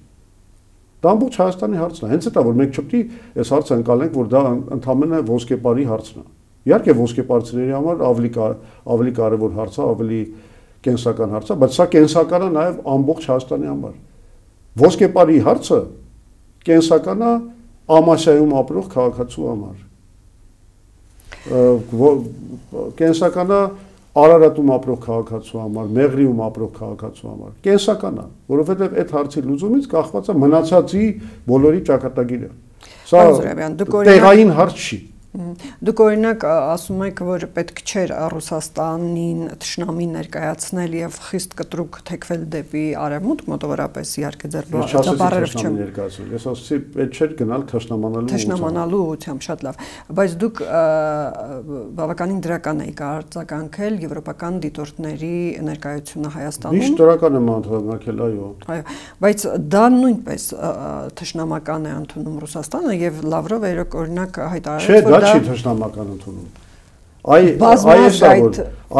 Դա ամբողջ Հայաստանի հարցն է։ Հենց դա որ մենք չպետք է այս հարցը անցալենք, որ դա ընդհանրապես ոսկեպարի հարցն է։ Իհարկե ոսկեպարծիների համար ավելի կարևոր հարց է, ավելի կենսական հարց է, բայց սա կենսական է նաև ամբողջ Հայաստանի համար։ Ոսկեպարի հարցը կենսական է Ամասիայում ապրող քաղաքացու համար։ Կենսական է Արարատում ապրող քաղաքացու համար, Մեղրիում ապրող քաղաքացու համար։ Կենսական է, որովհետև այդ հարցի լուծումից կախված է մնացածի բոլորի ճակատագիրը։ Սա տեղային հարց չի։ Դուք օրինակ ասում եք, որ պետք չէր Ռուսաստանին թշնամի ներկայացնել եւ խիստ կտրուկ թեքվել դեպի արևմուտք, մոտավորապես իհարկե ձեր բառերով չեմ ներկայացնել։ Ես ասացի, պետք չէր գնալ թշնամանալու ուղղությամբ, շատ լավ։ Բայց դուք բավականին դրական եք արձագանքել եվրոպական դիտորդների ներկայությունը Հայաստանում։ Միշտ դրական եմ արձագանքել, այո։ Այո, բայց դա նույնպես թշնամական է ընդունում Ռուսաստանը եւ Լավրովը օրինակ հայտարարեց, որ չի թշնամական ընդունում։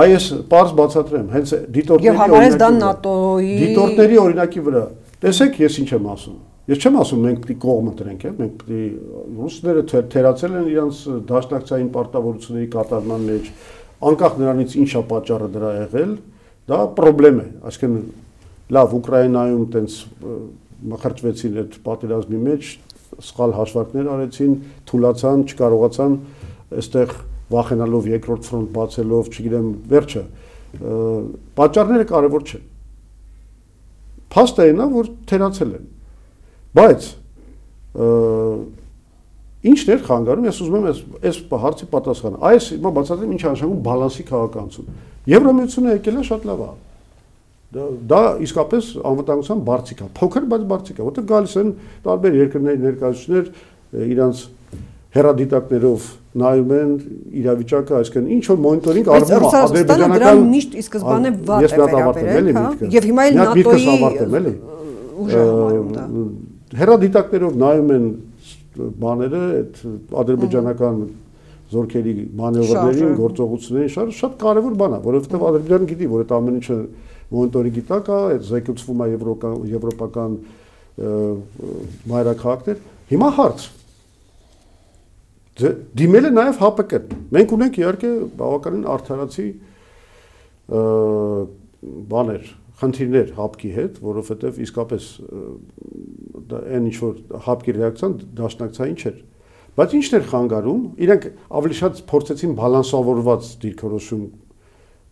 Այս պարզ բացատրեմ, հենց դիտորդների օրինակի վրա։ Տեսեք, ես ինչ եմ ասում։ Ես չեմ ասում մենք պիտի կողմը դրենք, մենք պիտի ռուսները թերացել են իրենց դաշնակցային պարտավորությունների կատարման մեջ, անկախ նրանից ինչ է պատճառը դրա եղել, դա խնդրեմ է, այսինքն լավ Ուկրաինայում տենց մխրճվեցին այդ պատերազմի մեջ, սխալ հաշվարկներ արեցին, թուլացան, չկարողացան այստեղ վախենալով երկրորդ ֆրոնտ բացելով, չգիտեմ, վերջը պատճառները կարևոր չեն։ Փաստը այն է, որ թերացել են։ Բայց ինչն էր խանգարում, ես ուզում եմ այս հարցի պատասխանը։ Այս հիմա բացատրեմ ինչ նշանակում բալանսի քաղաքականություն։ Եվրամիությունը եկել է շատ լավ է։ Դա իսկապես անվտանգության բարձիկ է, փոքր, բայց բարձիկ է, որտեղ գալիս են տարբեր երկրների ներկայացուցիչներ իրանց հեռադիտակներով նայում են իրավիճակը, այսինքն ինչ որ մոնիտորինգ արվում է ադրբեջանական միշտ ի սկզբանե վատ է վերաբերել, եւ հիմա էլ ՆԱՏՕ-ի ուժը համարում դա։ Հեռադիտակներով նայում են բաները, այդ ադրբեջանական զորքերի մանևրներին, գործողություններին, շատ կարևոր բան է, որովհետեւ Ադրբեջանը գիտի, որ այդ ամեն ինչը մոնիտորինգի տակ է, այդ զեկուցվում է եվրոպական մայրաքաղաքներ։ Հիմա հարց դիմել է նաև ՀԱՊԿ-ն։ Մենք ունենք իհարկե բավականին արդարացի բաներ, խնդիրներ ՀԱՊԿ-ի հետ, որովհետև իսկապես այն ինչ որ ՀԱՊԿ-ի ռեակցիան դաշնակցային չէր։ Բայց ինչն էր խանգարում, իրենք ավելի շատ փորձեցին բալանսավորված դիրքորոշում,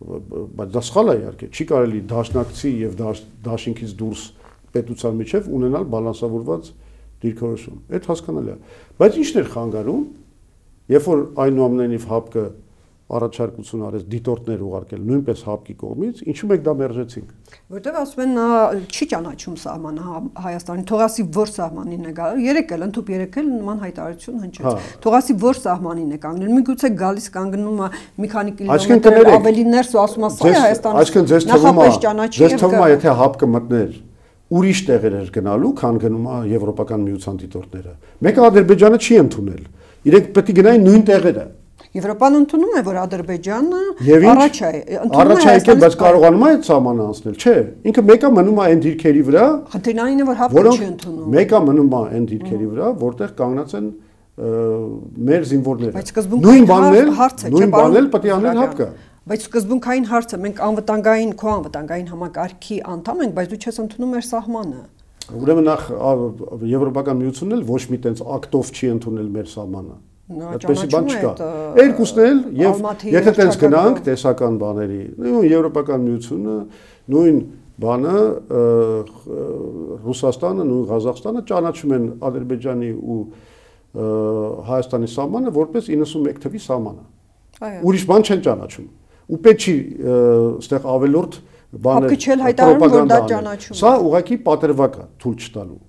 բայց դա սխալ է իհարկե, չի կարելի դաշնակցի եւ դաշինքից դուրս պետության միջև ունենալ բալանսավորված դիրքորոշում։ Այդ հասկանալի է։ Բայց ինչն էր խանգարում, երբ որ այնուամենայնիվ ՀԱՊԿ-ը առաջարկություն արեց դիտորդներ ուղարկել նույնպես ՀԱՊԿ-ի կողմից, ինչու մենք դա մերժեցինք։ Որտեվ ասում են նա չի ճանաչում սահմանը Հայաստանի, թողասի որ սահմանին է գալու, երեք էլ ընդհուպ երեք էլ նման հայտարարություն հնչեց։ Թողասի որ սահմանին է կանգնել, միգուցե գալիս կանգնում է մի քանի կիլոմետր ավելի ներս ու ասում է սա է Հայաստանը։ Այսինքն ձեզ թվում է, եթե ՀԱՊԿ մտներ ուրիշ տեղեր էր գնալու, քան գնում է Եվրոպական միության դիտորդները։ Մեկը Ադրբեջանը չի ընդունել։ Իրենք պետք է գնային նույն տեղերը։ Եվրոպան ընդունում է, որ Ադրբեջանը առաջ է, առաջ է եկել, բայց կարողանում է այդ սահմանը անցնել, չէ։ Ինքը մեկը մնում է այն դիրքերի վրա, խնդիրն այն է, որ ՀԱՊԿ-ը չի ընդունում։ Մեկը մնում է այն դիրքերի վրա, որտեղ կանգնած են մեր զինվորները։ Բայց սկզբունքային նույն բանել պետք է անել ՀԱՊԿ-ը։ Բայց սկզբունքային հարցը մենք քո անվտանգային համակարգի անդամ ենք, բայց դու չես ընդունում մեր սահմանը։ Ուրեմն նախ Եվրոպական միությունն էլ ոչ մի տենց ակտով չի ընդունել մեր սահմանը։ Այդպեսի բան չկա։ Երկուսն էլ եւ եթե տենց գնանք տեսական բաների, Եվրոպական միությունը, նույն բանը Ռուսաստանը, նույն Ղազախստանը ճանաչում են Ադրբեջանի ու Հայաստանի սահմանը որպես 91 թվի սահմանը։ Ուրիշ բան չեն ճանաչում։ Ու պետք չի այստեղ ավելորդ բաներ պրոպագանդա։ Սա ուղղակի պատրվակ է թույլ չտալու։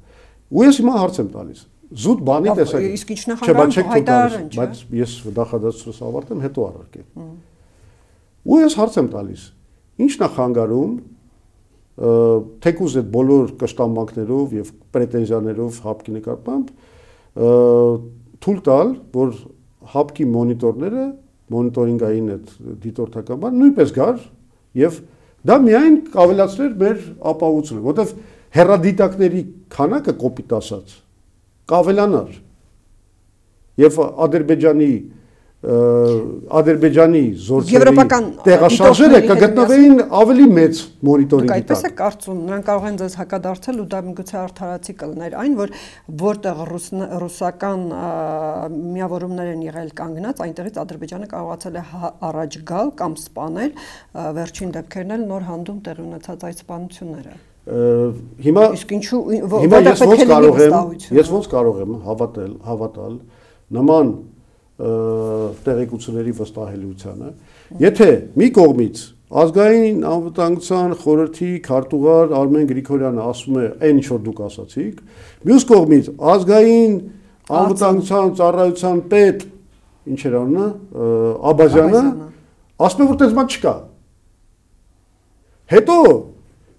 Ու ես հիմա հարց եմ տալիս։ Զուտ բանի տեսակ։ Իսկ ինչն է խանգարում հայտարարեն, չէ՞։ Բայց ես նախադասությունս ավարտեմ, հետո առարկեմ։ Ու ես հարց եմ տալիս։ Ինչն է խանգարում թեկուզ այդ բոլոր կշտամբանքներով եւ պրետենզիաներով ՀԱՊԿ-ի նկատմամբ թույլ տալ, որ ՀԱՊԿ-ի մոնիտորները մոնիտորինգային այդ դիտորդական բան նույնպես գար եւ դա միայն կավելացներ մեր ապահովությունը, որովհետեւ հեռադիտակների քանակը կոպիտ ասած կավելանար եւ Ադրբեջանի Ադրբեջանի զորքերի տեղաշարժերը կգտնվեին ավելի մեծ մոնիտորինգի տակ։ Այդպես է կարծում, նրանք կարող են ձեզ հակադարձել ու դա միգուցե արդարացի կլներ այն, որ որտեղ ռուսական միավորումներ են եղել կանգնած, այնտեղից Ադրբեջանը կարողացել է առաջ գալ կամ սպանել վերջին դեպքերն էլ նոր հանդում տեղի ունեցած այդ սպանությունները։ Հիմա ես ոնց կարող եմ հավատալ նման տեղեկությունների վստահելիությանը, եթե մի կողմից ազգային անվտանգության խորհրդի քարտուղար Արմեն Գրիգորյանը ասում է այն ինչ որ դուք ասացիք, մյուս կողմից ազգային անվտանգության ծառայության պետ ինչ էր անունը Աբազյանը ասում է որ այդպես բան չկա։ Հետո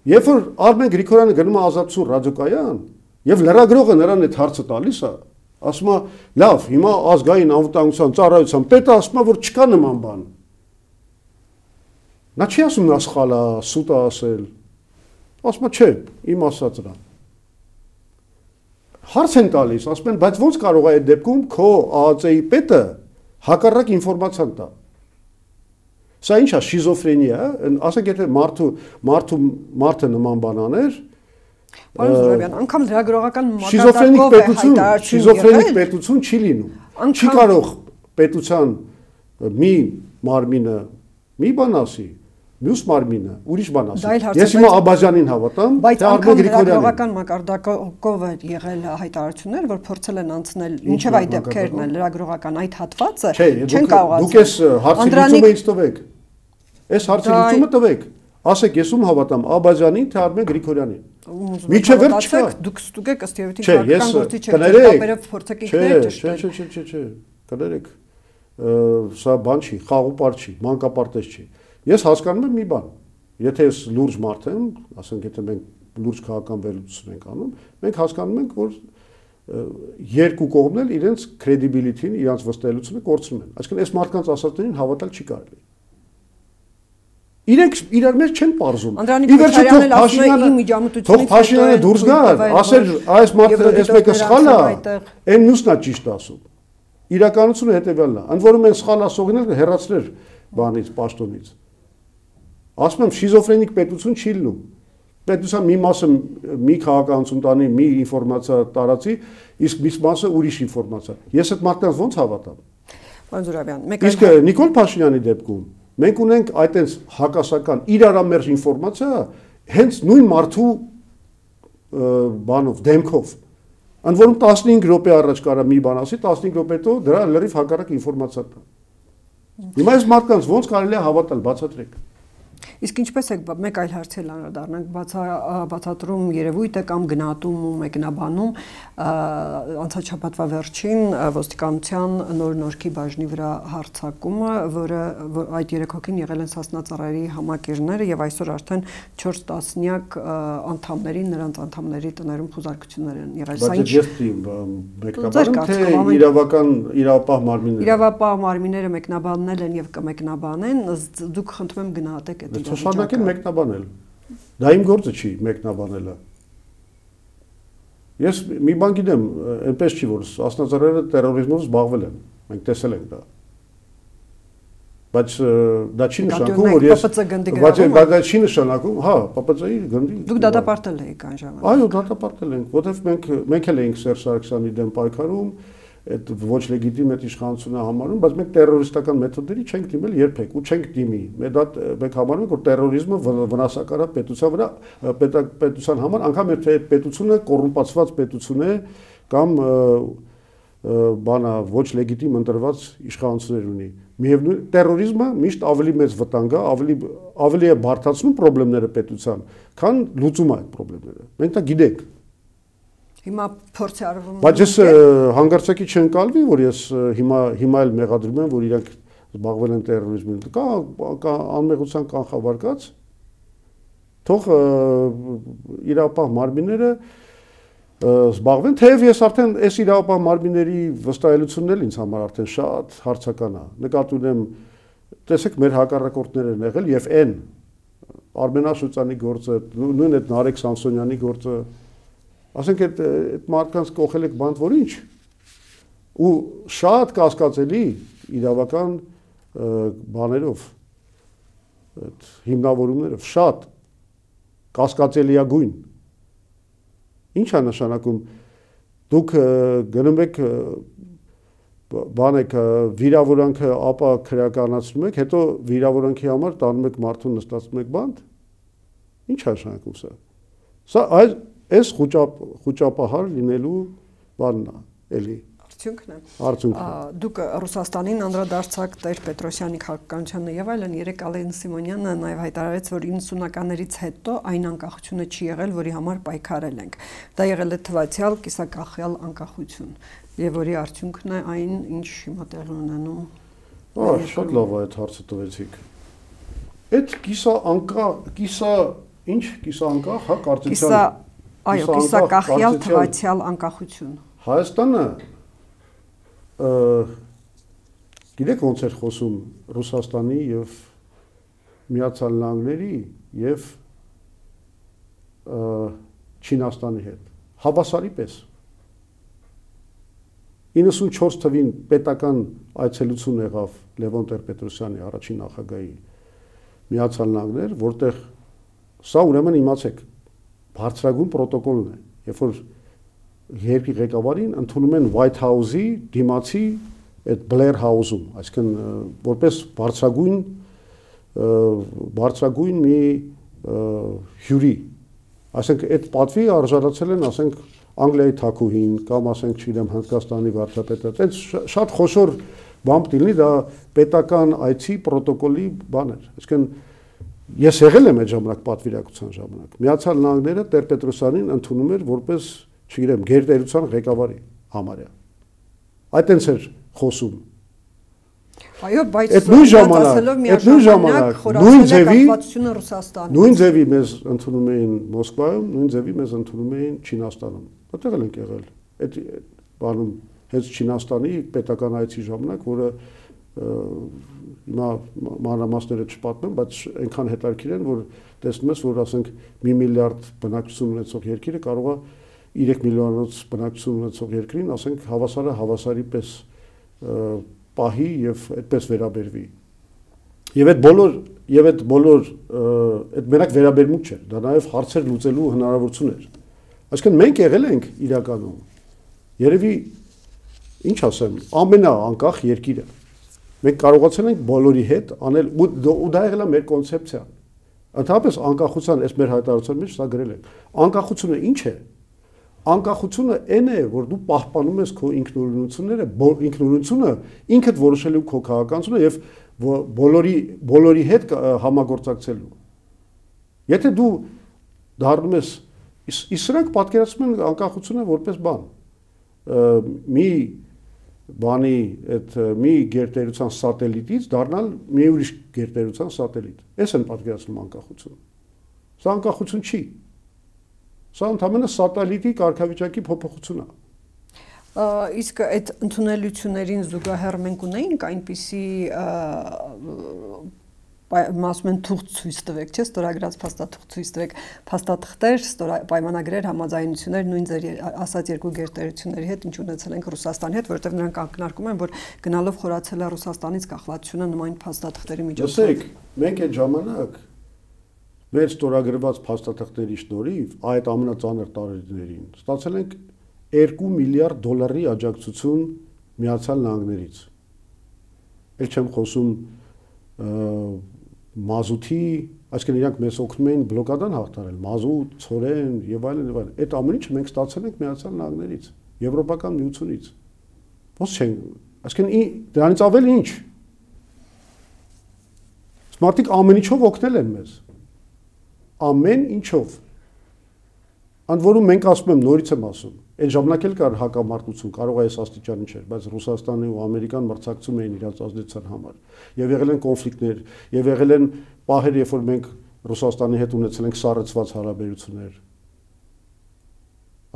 երբ որ Արմեն Գրիգորյանը գնում է Ազատություն ռադիոկայան եւ լրագրողը նրան այդ հարցը տալիս է, ասում է լավ, հիմա ազգային անվտանգության ծառայության պետը ասում է որ չկա նման բան։ Նա չի ասում նա սխալ է, սուտ է ասել։ Ասում է չէ, իմ ասածն է։ Հարց են տալիս, ասում են, բայց ոնց կարող է այդ դեպքում քո ԱԱԾ-ի պետը հակառակ ինֆորմացիան տա։ Սա ինչ է, շիզոֆրենիա է, ասենք եթե մարդը նման բան աներ, Պարոն Զուրաբյան, անգամ լրագրողական մակարդակով է հայտարարություն շիզոֆրենիկ պետություն չի լինում։ Չի կարող պետության մի մարմինը մի բան ասի, մյուս մարմինը ուրիշ բան ասի։ Ես հիմա Աբազյանին հավատամ, բայց անգամ լրագրողական մակարդակով է եղել հայտարարություններ, որ փորձել են անցնել մինչև այդ դեպքերն է լրագրողական այդ հատվածը չեն կարողացել։ Դուք այս հարցի լուծումը ինձ տվեք։ Այս հարցի լուծումը տվեք։ Ասեք, ես ում հավատամ Աբազյանին, թե Արմեն Գրիգորյանին։ Միջև վերջ չկա։ Դուք ստուգեք ըստ երևույթին քաղաքական գործիչ եք, դեպերը փորձեք ինքներ ճշտել։ Չէ, կներեք։ Սա բան չի, խաղուպար չի, մանկապարտեզ չի։ Ես հասկանում եմ մի բան։ Եթե ես լուրջ մարդ եմ, ասենք եթե մենք լուրջ քաղաքական վերլուծություն ենք անում, մենք հասկանում ենք, որ երկու կողմն էլ իրենց credibility-ին, իրենց վստահելիությունը կորցնում են։ Այսինքն այս մարդկանց ասածներին հավատալ չի կարելի։ Իրենք իրար մեջ չեն պարզում։ Թող Փաշինյանը դուրս գա, ասել այս մարդը այս մեկը սխալ է, այն մյուսն է ճիշտ ասում։ Իրականությունը հետևյալն է։ Ընդ որում են սխալ ասողները հեռացրել բանից, պաշտոնից։ Ասում եմ շիզոֆրենիկ պետություն չի լինում։ Պետության մի մասը մի քաղաքականություն տանի, մի ինֆորմացիա տարածի, իսկ մյուս մասը ուրիշ ինֆորմացիա։ Ես այդ մարդկանց ոնց հավատամ։ Պարոն Զուրաբյան, իսկ Նիկոլ Փաշինյանի դեպքում մենք ունենք այդպես հակասական իրարամերժ ինֆորմացիա հենց նույն մարդու բանով, դեմքով։ Ընդ որում 15 րոպե առաջ կարա մի բան ասի, 15 րոպե հետո դրա լրիվ հակառակ ինֆորմացիա տա։ Հիմա այս մարդկանց ոնց կարելի է հավատալ, բացատրեք։ Իսկ ինչպես է մեկ այլ հարցի անդրադառնանք բացատրում երևույթը կամ գնահատում ու մեկնաբանում անցաչափածվա վերջին ոստիկանության նոր-նորքի բաժնի վրա հարձակումը, որը այդ 3 հոգին եղել են Սասնա ծառայերի համակիրները եւ այսօր արդեն 4 տասնյակ անդամների նրանց անդամների տներում խուզարկություններ են եղել։ Սա ինչ մեկնաբանում թե իրավապահ մարմինները։ Իրավապահ մարմինները մեկնաբանել են եւ կմեկնաբանեն, դուք խնդրում եմ գնահատեք այդ Շարունակեն մեկնաբանել։ Դա իմ գործը չի մեկնաբանելը։ Ես մի բան գիտեմ, այնպես չի որ ասնածառերը terrorizmով զբաղվել են։ Մենք տեսել ենք դա։ Բայց դա չի նշանակում, որ ես բայց դա չի նշանակում, հա, ՊՊՑ-ի գնդի։ Դուք դատապարտել եք այն ժամանակ։ Այո, դատապարտել ենք, որովհետև մենք էլ էինք Սերժ Սարգսյանի դեմ պայքարում, այդ ոչ լեգիտիմ այդ իշխանությունը համարում, բայց մենք տերորիստական մեթոդների չենք դիմել երբեք ու չենք դիմի։ Մենք համարում ենք, որ տերորիզմը վնասակար է պետության վրա, պետության համար, անգամ եթե պետությունը կոռումպացված պետություն է կամ բանա ոչ լեգիտիմ ընտրված իշխանություններ ունի։ Միևնույն տերորիզմը միշտ ավելի մեծ վտանգ է, ավելի է բարդացնում խնդիրները պետության, քան լուծում այդ խնդիրները։ Մենք դա գիտենք։ Հիմա փորձ է արվում։ Բայց ես հանգարցակի չընկալվի, որ ես հիմա էլ մեղադրում եմ, որ իրանք զբաղվել են տերորիզմի։ Կա անմեղության կանխավարկած։ Թող իրավապահ մարմինները զբաղվեն, թեև ես արդեն այս իրավապահ մարմինների վստահելությունն էլ ինձ համար արդեն շատ հարցական է։ Նկատի ունեմ, տեսեք, մեր հակառակորդներ են եղել եւ այն Արմեն Աշոտյանի գործը, նույն այդ Նարեկ Սամսոնյանի գործը, ասենք այդ մարդկանց կողել եք բանտ որ ինչ։ Ու շատ կասկածելի, իրավական բաներով, այդ հիմնավորումներով շատ կասկածելիագույն։ Ինչ է նշանակում դուք գնում եք բանեք վիրավորանքը ապա քրեականացնում եք, հետո վիրավորանքի համար տանում եք մարդուն նստացնում եք բանտ։ Ինչ է նշանակում սա։ Սա այս խոճապահար լինելու բանն է, էլի։ Արդյունքն է։ Արդյունքն է։ Դուք Ռուսաստանին անդրադարձակ Տեր Պետրոսյանի քաղաքականությանը եւ այլն, երեք Ալեն Սիմոնյանը նաեւ հայտարարեց, որ 90-ականներից հետո այն անկախությունը չի եղել, որի համար պայքարել ենք։ Դա եղել է թվացial կիսակախյալ անկախություն, եւ որի արդյունքն է այն, ինչ հիմա տեղի ունենում։ Շատ լավ է այդ հարցը տվեցիք։ Այդ կիսանկախ, հա, կարծիքյան։ Այո, կիսակախյալ թվացial անկախություն։ Հայաստանը գիտեք ոնց էր խոսում Ռուսաստանի եւ Միացյալ Նահանգների եւ Չինաստանի հետ։ Հավասարի պես 94 թվին պետական այցելություն եղավ Լևոն Տեր-Պետրոսյանի առաջին նախագահի Միացյալ Նահանգներ, որտեղ սա ուրեմն իմացեք բարձրագույն պրոտոկոլն է, երբ որ երկրի ղեկավարին ընդունում են White House-ի դիմացի այդ Blair House-ում, այսինքն որպես բարձրագույն մի հյուրի, ասենք այդ պատվի արժանացել են, ասենք Անգլիայի թագուհին կամ ասենք չգիտեմ Հնդկաստանի վարչապետը, այդ շատ խոշոր բան լինի, դա պետական այցի պրոտոկոլի բան էր, այսինքն ես եղել եմ այդ ժամանակ պատվիրակության ժամանակ, Միացյալ Նահանգները Տեր-Պետրոսյանին ընդունում էր որպես չգիտեմ, գերտերության ղեկավարի համարյա։ Այդ այնց էր խոսում։ Այո, բայց այդ նույն ժամանակ նույն ձևի մեզ ընդունում էին Մոսկվայում, նույն ձևի մեզ ընդունում էին Չինաստանում։ Որտեղ ենք եղել։ Այդ բանում հենց Չինաստանի պետական այցի ժամանակ, որը հիմա մանրամասները չպատմեմ, բայց այնքան հետաքրքիր են, որ տեսնում ես, որ ասենք 1 միլիարդ բնակչություն ունեցող երկիրը կարող է 3 միլիոնոց բնակչություն ունեցող երկրին, ասենք հավասարի պես պահի եւ այդպես վերաբերվի։ Եվ այդ բոլոր այդ մենակ վերաբերմունք չէ, դա նաեւ հարցեր լուծելու հնարավորություն էր։ Այսինքն մենք եղել ենք իրականում երևի ինչ ասեմ, ամենաանկախ երկիրը։ Մենք կարողացել ենք բոլորի հետ անել ու դա եղել է մեր կոնցեպցիան։ Ընդհանրապես անկախության այս մեր հայտարարության մեջ սա գրել ենք։ Անկախությունը ինչ է։ Անկախությունը այն է, որ դու պահպանում ես քո ինքնուրույնությունները, ինքնուրույնությունը ինքդ որոշելու քո քաղաքականությունը եւ բոլորի հետ համագործակցելու։ Եթե դու դառնում ես, իսկ սրանք պատկերացնում են անկախությունը որպես բան։ Մի բանի այդ մի գերտերության սատելիտից դառնալ մի ուրիշ գերտերության սատելիտ։ Այս են պատկերացնում անկախությունը։ Սա անկախություն չի։ Սա ընդհանրապես սատելիտի կարգավիճակի փոփոխություն է։ Իսկ այդ ընդունելություններին զուգահեռ մենք ունեինք այնպիսի ասում են թուղթ ցույց տվեք, չէ՞, ստորագրած փաստաթուղթ ցույց տվեք, փաստաթղթեր, պայմանագրեր, համաձայնություններ նույն ձեր ասած երկու գերտերությունների հետ, ինչ ունեցել ենք Ռուսաստանի հետ, որովհետև նրանք ակնարկում են, որ գնալով խորացել է Ռուսաստանից կախվածությունը նման փաստաթղթերի միջոցով։ Լսեք, մենք այդ ժամանակ մեր ստորագրված փաստաթղթերի շնորհիվ այդ ամենածանր տարիներին ստացել ենք 2 միլիարդ դոլարի աջակցություն Միացյալ Նահանգներից։ Էլ չեմ խոսում մազութի, այսինքն իրանք մեզ օգնում էին բլոկադան հաղթարել, մազութ, ցորեն եւ այլն եւ այլն։ Այդ ամեն ինչը մենք ստացել ենք Միացյալ Նահանգներից, Եվրոպական միությունից։ Ոնց չեն, այսինքն դրանից ավել ինչ։ Մարդիկ ամեն ինչով օգնել են մեզ։ Ամեն ինչով։ Ընդ որում մենք ասում եմ, նորից եմ ասում, այդ ժամանակ էլ կար հակամարտություն, կարող է այս աստիճանի չէր, բայց Ռուսաստանը ու Ամերիկան մրցակցում էին իրենց ազդեցության համար։ Եվ եղել են կոնֆլիկտներ, եւ եղել են պահեր, երբ որ մենք Ռուսաստանի հետ ունեցել ենք սառեցված հարաբերություններ։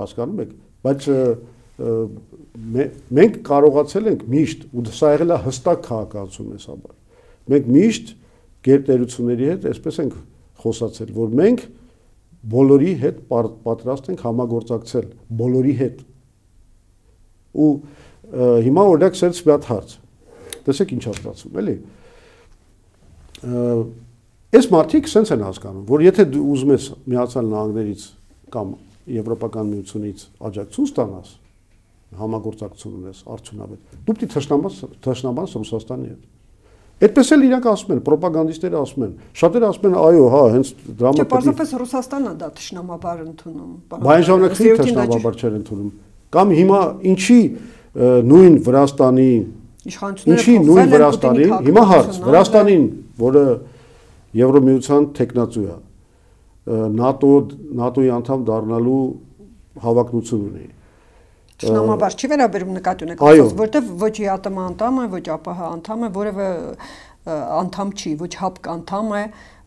Հասկանում եք, բայց մենք կարողացել ենք միշտ, ու սա եղել է հստակ քաղաքացիություն մեզ համար։ Մենք միշտ գերտերությունների հետ այսպես ենք խոսացել, որ մենք բոլորի հետ պատրաստ ենք համագործակցել, բոլորի հետ։ Ու հիմա օրինակ սենց մի հատ հարց։ տեսեք ինչ է ստացվում, էլի։ Այս մարդիկ sense են հասկանում, որ եթե դու ուզում ես Միացյալ Նահանգներից կամ Եվրոպական միությունից աջակցություն ստանաս, համագործակցություն ունես արդյունավետ, դու պետք է թշնամանաս Ռուսաստանի հետ։ Այդպես էլ իրանք ասում են, ռոպագանդիստները ասում են, շատերը ասում են, այո, հա, հենց դրա մեջ։ Չէ, պարզապես Ռուսաստանն է դա թշնամաբար ընդունում։ Բայց ժամանակի թշնամաբար չեն ընդունում։ Կամ հիմա ինչի նույն Վրաստանի ինչի նույն Վրաստանի, հիմա հարց, Վրաստանին, որը Եվրոմիության տեխնացու է, ՆԱՏՕ-ի անդամ դառնալու հավակնություն ունի։ Շնամաբար չի վերաբերում նկատի ունեք, որտեվ ոչ ԵԱՏՄ անդամ է, ոչ ԱՊՀ անդամ է, որևէ անդամ չի, ոչ ՀԱՊԿ անդամ է,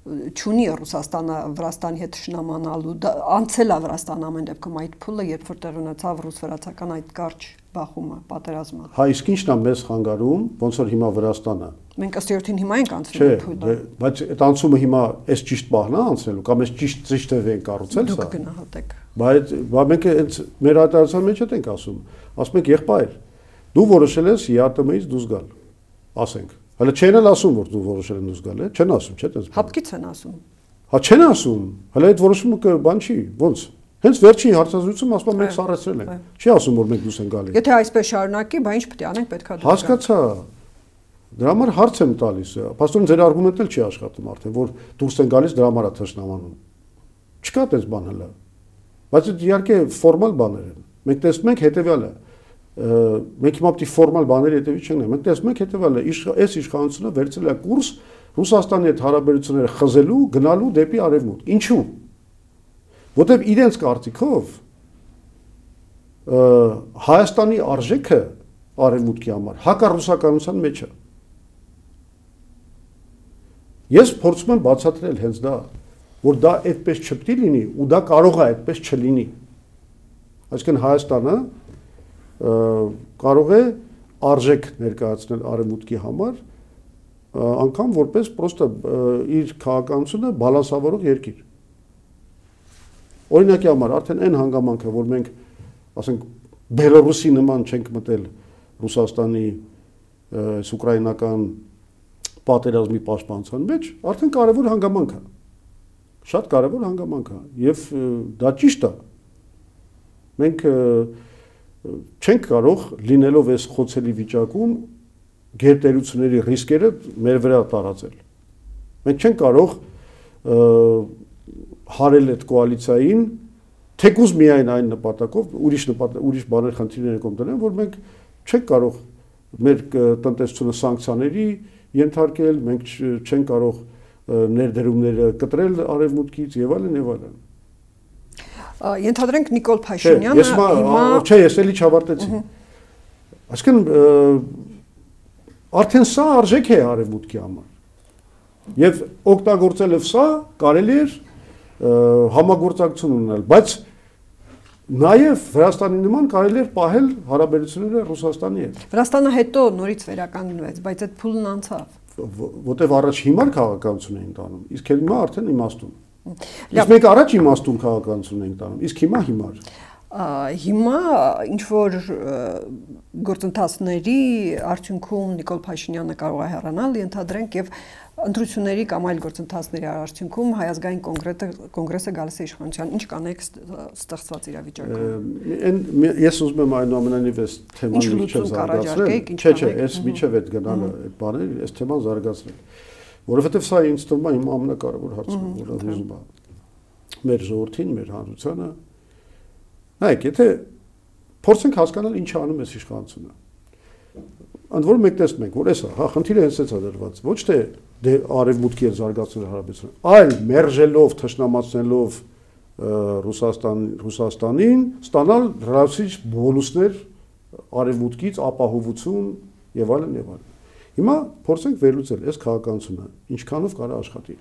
չունի Ռուսաստանը Վրաստանի հետ շնամանալու, անցել է Վրաստան ամեն դեպքում այդ փուլը, երբ որ տեղ ունեցավ ռուս-վրացական այդ կարճ բախումը, պատերազմը։ Հա, իսկ ի՞նչն է մեզ խանգարում, ոնց որ հիմա Վրաստանը։ Մենք ըստ երթին հիմա ենք անցնում այդ փուլը։ Բայց այդ անցումը հիմա այս ճիշտ բախն է անցնելու, կամ այս ճիշտ է կառուցել սա։ Դուք գնահատեք։ Բայց մենք հենց մեր հայտարարության մեջ ենք ասում, ասում ենք եղբայր, դու որոշել ես ԵԱՏՄ-ից դուրս գալ, ասենք։ Հələ չեն էլ ասում, որ դու որոշել ես դուրս գալ, չեն ասում, չէ՞, դες։ ՀԱՊԿ-ից են ասում։ Հա չեն ասում, հələ այդ որոշումը բան չի, ոնց։ Հենց վերջին հարցազրույցում ասում մենք սառեցրել ենք։ Չի ասում, որ մենք դուրս ենք գալի։ Եթե այսպես շարունակի, բա ինչ պետք է անենք, պետքա դուրս գալ։ Հասկացա։ Դրա համար հարց եմ տալիս։ Պաստորեն ձեր արգումենտն էլ չի աշխատում արդեն, որ դուրս են գալիս դրա համար է թշնամանում։ Չկա այդպես բան հələ։ Բայց իհարկե ֆորմալ բաներ են։ Մենք տեսնում ենք հետեւյալը։ Մենք հիմա պետք է ֆորմալ բաների հետևից չենք նայում։ Մենք տեսնում ենք հետեւյալը, այս իշխանությունը վերցրել է կուրս Ռուսաստանի հետ հարաբերությունները խզելու, գնալու դեպի արևմուտք։ Ինչու՞։ Որտեւ իրենց կարծիքով Հայաստանի արժեքը արևմուտքի համար հակառուսականության մեջ է։ Ես փորձում եմ բացատրել հենց դա, որ դա այդպես չպետք է լինի ու դա կարող է այդպես չլինի։ Այսինքն Հայաստանը կարող է արժեք ներկայացնել արևմուտքի համար, անգամ որպես պրոստը իր քաղաքականությունը բալանսավորող երկիր։ Օրինակի համար արդեն այն հանգամանքը, որ մենք ասենք Բելոռուսի նման չենք մտել Ռուսաստանի ուկրաինական պատերազմի պաշտպանության մեջ, արդեն կարևոր հանգամանք է։ Շատ կարևոր հանգամանք է եւ դա ճիշտ է։ Մենք չենք կարող լինելով այս խոցելի վիճակում գերտերությունների ռիսկերը մեր վրա տարածել։ Մենք չենք կարող հարել այդ կոալիցիային թեկուզ միայն այն նպատակով, ուրիշ բաներ խնդիրներ կողմ դնեն, որ մենք չենք կարող մեր տնտեսությունը սանկցիաների ենթարկել, մենք չենք կարող ներդրումները կտրել արևմուտքից եւ այլն եւ այլն։ Ենթադրենք Նիկոլ Փաշինյանը հիմա չէ, ես էլի չավարտեցի։ Այսինքն արդեն սա արժեք է արևմուտքի համար։ Եվ օգտագործելով սա կարելի է համագործակցություն ունենալ, բայց նաև Վրաստանի նման կարելի է պահել հարաբերությունները Ռուսաստանի հետ։ Վրաստանը հետո նորից վերականգնվեց, բայց այդ փուլն անցավ։ Որտեվ առաջ հիմար քաղաքականություն էին տանում, իսկ հիմա արդեն իմաստուն։ Իսկ մենք առաջ իմաստուն քաղաքականություն ենք տանում, իսկ հիմա հիմար։ Հիմա ինչ որ գործընթացների արդյունքում Նիկոլ Փաշինյանը կարող է հեռանալ, ենթադրենք եւ ընտրությունների կամ այլ գործընթացների արդյունքում Հայ ազգային կոնգրեսը գալիս է իշխանության, ինչ կանեք ստեղծված իրավիճակում։ Ես ուզում եմ այնուամենայնիվ այս թեման միջև զարգացնել։ Չէ, այս միջև այդ գնալը այդ բաները, այս թեման զարգացնել, որովհետև սա ինձ թվում է իմ ամենակարևոր հարցը, որը ուզում եմ մեր ժողովրդին, մեր հանրությանը։ Նայեք, եթե փորձենք հասկանալ ինչ անում է իշխանությունը։ Ընդ որում մենք տեսնում ենք, որ էսա, հա, խնդիրը հենց էսա դրված, ոչ թե արևմուտքի հետ զարգացնել հարաբերությունը, այլ մերժելով, թշնամացնելով Ռուսաստանին, ստանալ լրացուցիչ բոնուսներ արևմուտքից, ապահովություն եւ այլն եւ այլն։ Հիմա փորձենք վերլուծել այս քաղաքականությունը, ինչքանով կարա աշխատի։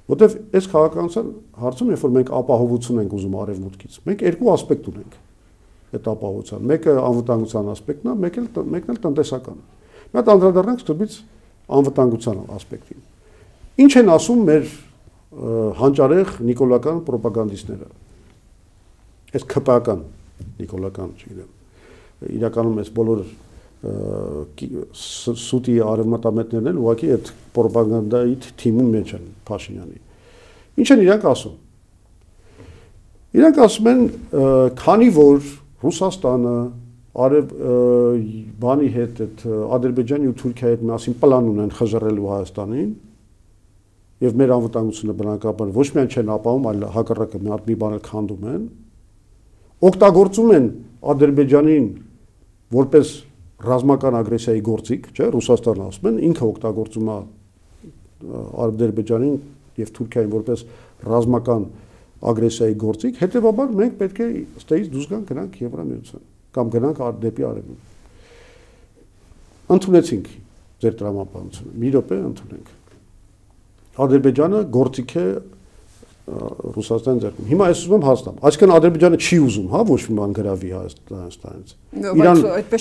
Որտեվ այս քաղաքականության հարցում, երբ որ մենք ապահովություն ենք ուզում արևմուտքից, մենք երկու ասպեկտ ունենք այդ ապահովության։ Մեկը անվտանգության ասպեկտն է, մեկն էլ տնտեսական։ Մի հատ անդրադառնանք ստուբից անվտանգության ասպեկտին։ Ինչ են ասում մեր հանճարեղ նիկոլական ռոպագանդիստները։ Այս ԿՊԱ-ական նիկոլական, չգիտեմ, իրականում այս բոլոր սուտի արևմտամետներն էլ ուղղակի այդ պրոպագանդայի թիմի մեջ են Փաշինյանի։ Ինչ են իրանք ասում։ Իրանք ասում են, քանի որ Ռուսաստանը բանի հետ այդ Ադրբեջանի ու Թուրքիայի հետ միասին պլան ունեն խժռելու Հայաստանին եւ մեր անվտանգությունը բնականաբար ոչ միայն չեն ապահովում, այլ հակառակը մի բան էլ քանդում են, օգտագործում են Ադրբեջանին որպես ռազմական ագրեսիայի գործիք, չէ, Ռուսաստանը ասում են, ինքը օգտագործում է Ադրբեջանին եւ Թուրքիային որպես ռազմական ագրեսիայի գործիք, հետեւաբար մենք պետք է ստեից դուրս գանք, գնանք Եվրամիության կամ գնանք դեպի Արևմուտք։ Ընդունեցինք ձեր տրամաբանությունը, մի րոպե ընդունենք։ Ադրբեջանը գործիք է Ռուսաստանի ձեռքում։ Հիմա ես ուզում եմ հասնեմ։ Այսինքն Ադրբեջանը չի ուզում, հա, ոչ մի բան գրավի Հայաստանից։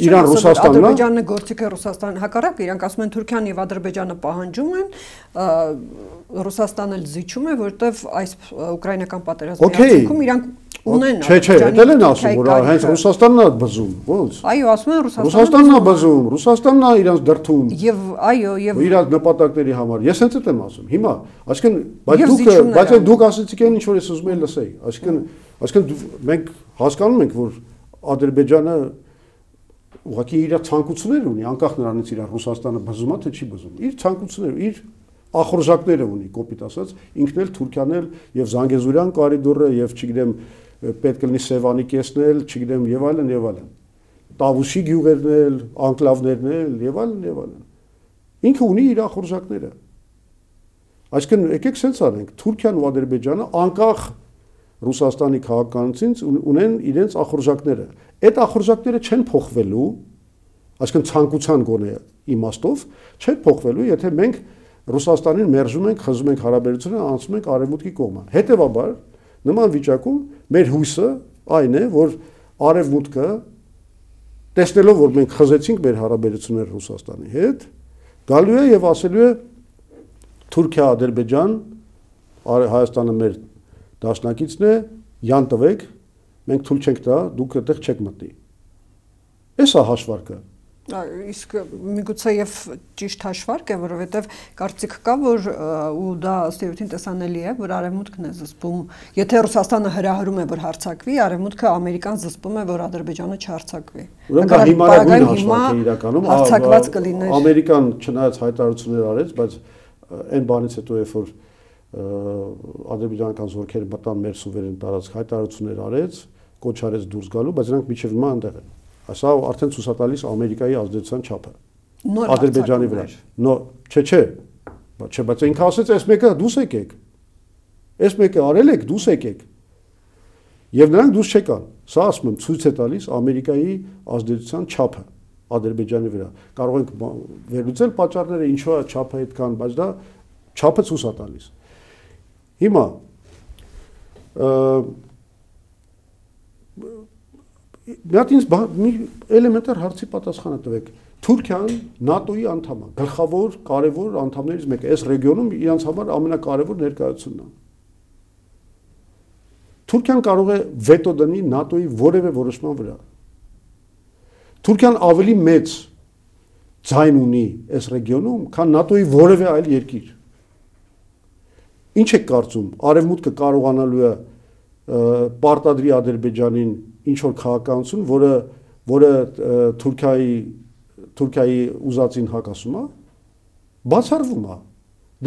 Իրան Ռուսաստանն Ադրբեջանը գործիք է Ռուսաստան հակառակ, իրանք ասում են Թուրքիան եւ Ադրբեջանը պահանջում են, Ռուսաստանը զիջում է, որտեվ այս ուկրաինական պատերազմի արդյունքում իրանք ունեն Չէ, դել են ասում, որ հենց Ռուսաստանն է բզում, ո՞նց։ Այո, ասում են Ռուսաստանն է բզում, Ռուսաստանն է իրանց դրթում։ Եվ այո, եւ իրանց նպատակների համար։ Ես հենց այդ եմ ասում։ Հիմա, այսինքն, բայց դուք ասեցիք այն ինչ որ ես ուզում եմ լսեի։ Այսինքն մենք հասկանում ենք, որ Ադրբեջանը ուղղակի իր ցանկություններ ունի, անկախ նրանից իր Ռուսաստանը բզում է թե չի բզում։ Իր ցանկությունները, իր ախորժակները ունի, կոպիտ ասած, ինքն էլ Թուրքիան էլ եւ Զանգեզուրյան կորիդորը եւ չգիտեմ պետք է լինի Սևանի կեսն էլ, չգիտեմ եւ այլն եւ այլն։ Տավուշի գյուղերն էլ, անկլավներն էլ եւ այլն եւ այլն։ Ինքը ունի իր ախորժակները։ Այսինքն եկեք sense արենք, Թուրքիան ու Ադրբեջանը անկախ Ռուսաստանի քաղաքականությունից ունեն իրենց ախորժակները։ Այդ ախորժակները չեն փոխվելու, այսինքն ցանկության գոնե իմաստով չեն փոխվելու, եթե մենք Ռուսաստանին մերժում ենք, խզում ենք հարաբերությունները, անցնում ենք արևմուտքի կողմը։ Հետևաբար նման վիճակում մեր հույսը այն է, որ արևմուտքը տեսնելով, որ մենք խզեցինք մեր հարաբերությունները Ռուսաստանի հետ, գալու է եւ ասելու է Թուրքիա, Ադրբեջան, Հայաստանը մեր դաշնակիցն է, յան տվեք, մենք թույլ չենք տա, դուք այդտեղ չեք մտնի։ Էսա հաշվարկը։ Իսկ միգուցե եւ ճիշտ հաշվարկ է, որովհետեւ կարծիք կա, որ ու դա ըստեյության տեսանելի է, որ Արևմուտքն է զսպում, եթե Ռուսաստանը հրահրում է, որ հարձակվի, Արևմուտքը Ամերիկան զսպում է, որ Ադրբեջանը չհարձակվի։ Ուրեմն հիմա հաշվարկ է իրականում, հարձակված կլիներ։ Ամերիկան չնայած հայտարարություններ արեց, բայց այն բանից հետո երբ որ ադրբեջանական զորքերը մտան մեր սուվերեն տարածք, հայտարարություններ արեց, կոչ արեց դուրս գալու, բայց նրանք միջև հիմա այնտեղ են։ Սա արդեն ցույց է տալիս Ամերիկայի ազդեցության չափը Ադրբեջանի վրա։ Չէ, բայց ինքը ասեց, այս մեկը դուս եկեք։ Այս մեկը արել եք, դուս եկեք։ Եվ նրանք դուս չեկան։ Սա ասում եմ ցույց է տալիս Ամերիկայի ազդեցության չափը Ադրբեջանի վրա։ Կարող ենք վերլուծել պատճառները, ինչու է չափը այդքան, բայց դա չափը ցույց է տալիս։ Հիմա մի հատ ինձ մի էլեմենտար հարցի պատասխանը տվեք։ Թուրքիան ՆԱՏՕ-ի անդամ է, գլխավոր կարևոր անդամներից մեկը։ Այս ռեգիոնում իրանց համար ամենակարևոր ներկայությունն է։ Թուրքիան կարող է վետո դնի ՆԱՏՕ-ի որևէ որոշման վրա։ Թուրքիան ավելի մեծ ձայն ունի այս ռեգիոնում, քան ՆԱՏՕ-ի որևէ այլ երկիր։ Ինչ եք կարծում, Արևմուտքը կարողանալու է պարտադրի Ադրբեջանին ինչ որ քաղաքականություն, որը Թուրքիայի ուզածին հակասում է, բացառվում է։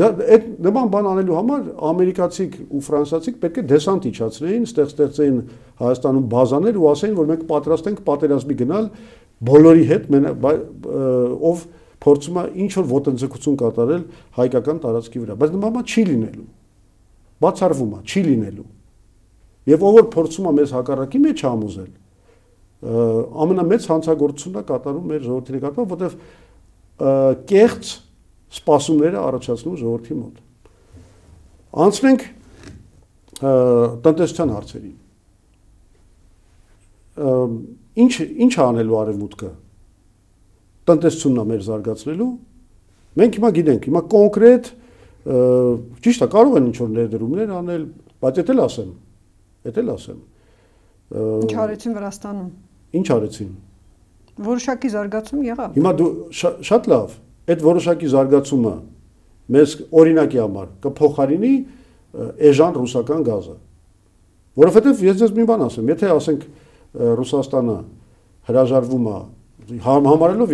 Դա այդ նման բան անելու համար ամերիկացիք ու ֆրանսիացիք պետք է դեսանտ իջացնեին, ստեղծեին Հայաստանում բազաներ ու ասեին, որ մենք պատրաստ ենք պատերազմի գնալ բոլորի հետ, ով փորձում է ինչ որ ոտնձգություն կատարել հայկական տարածքի վրա, բայց նման բան չի լինելու։ Բացառվում է, չի լինելու։ Եվ ով որ փորձում է մեզ հակառակի մեջ համոզել, ամենամեծ հանցագործությունն է կատարում մեր ժողովրդի նկատմամբ, որտեղ կեղծ սպասումները առաջացնում ժողովրդի մոտ։ Անցնենք տնտեսության հարցերին։ Ինչ է անելու Արևմուտքը տնտեսությունն է մեր զարգացնելու։ Մենք հիմա գիտենք, հիմա կոնկրետ ճիշտ է, կարող են ինչ-որ ներդրումներ անել, բայց էդ էլ ասեմ։ Ինչ արեցին Վրաստանում։ Ինչ արեցին։ Որոշակի զարգացում եղավ։ Հիմա դու շատ լավ, այդ որոշակի զարգացումը մեզ օրինակի համար կփոխարինի էժան ռուսական գազը։ Որովհետև ես ձեզ մի բան ասեմ, եթե ասենք Ռուսաստանը հրաժարվում է համարելով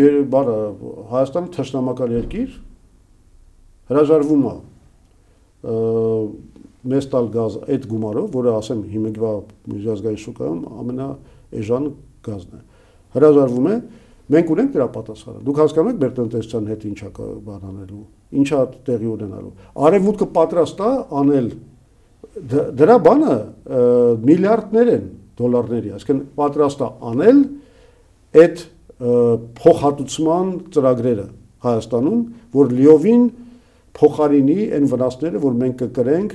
Հայաստանը թշնամական երկիր, հրաժարվում է մեզ տալ գազ այդ գումարով, որը ասեմ հիմիկվա միջազգային շուկայում ամենաէժան գազն է։ Հրաժարվում է, մենք ունենք դրա պատասխանը։ Դուք հասկանում եք մեր տնտեսության հետ ինչա բան անելու, ինչա տեղի ունենալու։ Արևմուտքը պատրաստ է անել դրա բանը միլիարդներ են դոլարների, այսինքն պատրաստ է անել այդ փոխհատուցման ծրագրերը Հայաստանում, որ լիովին փոխարինի այն վնասները, որ մենք կկրենք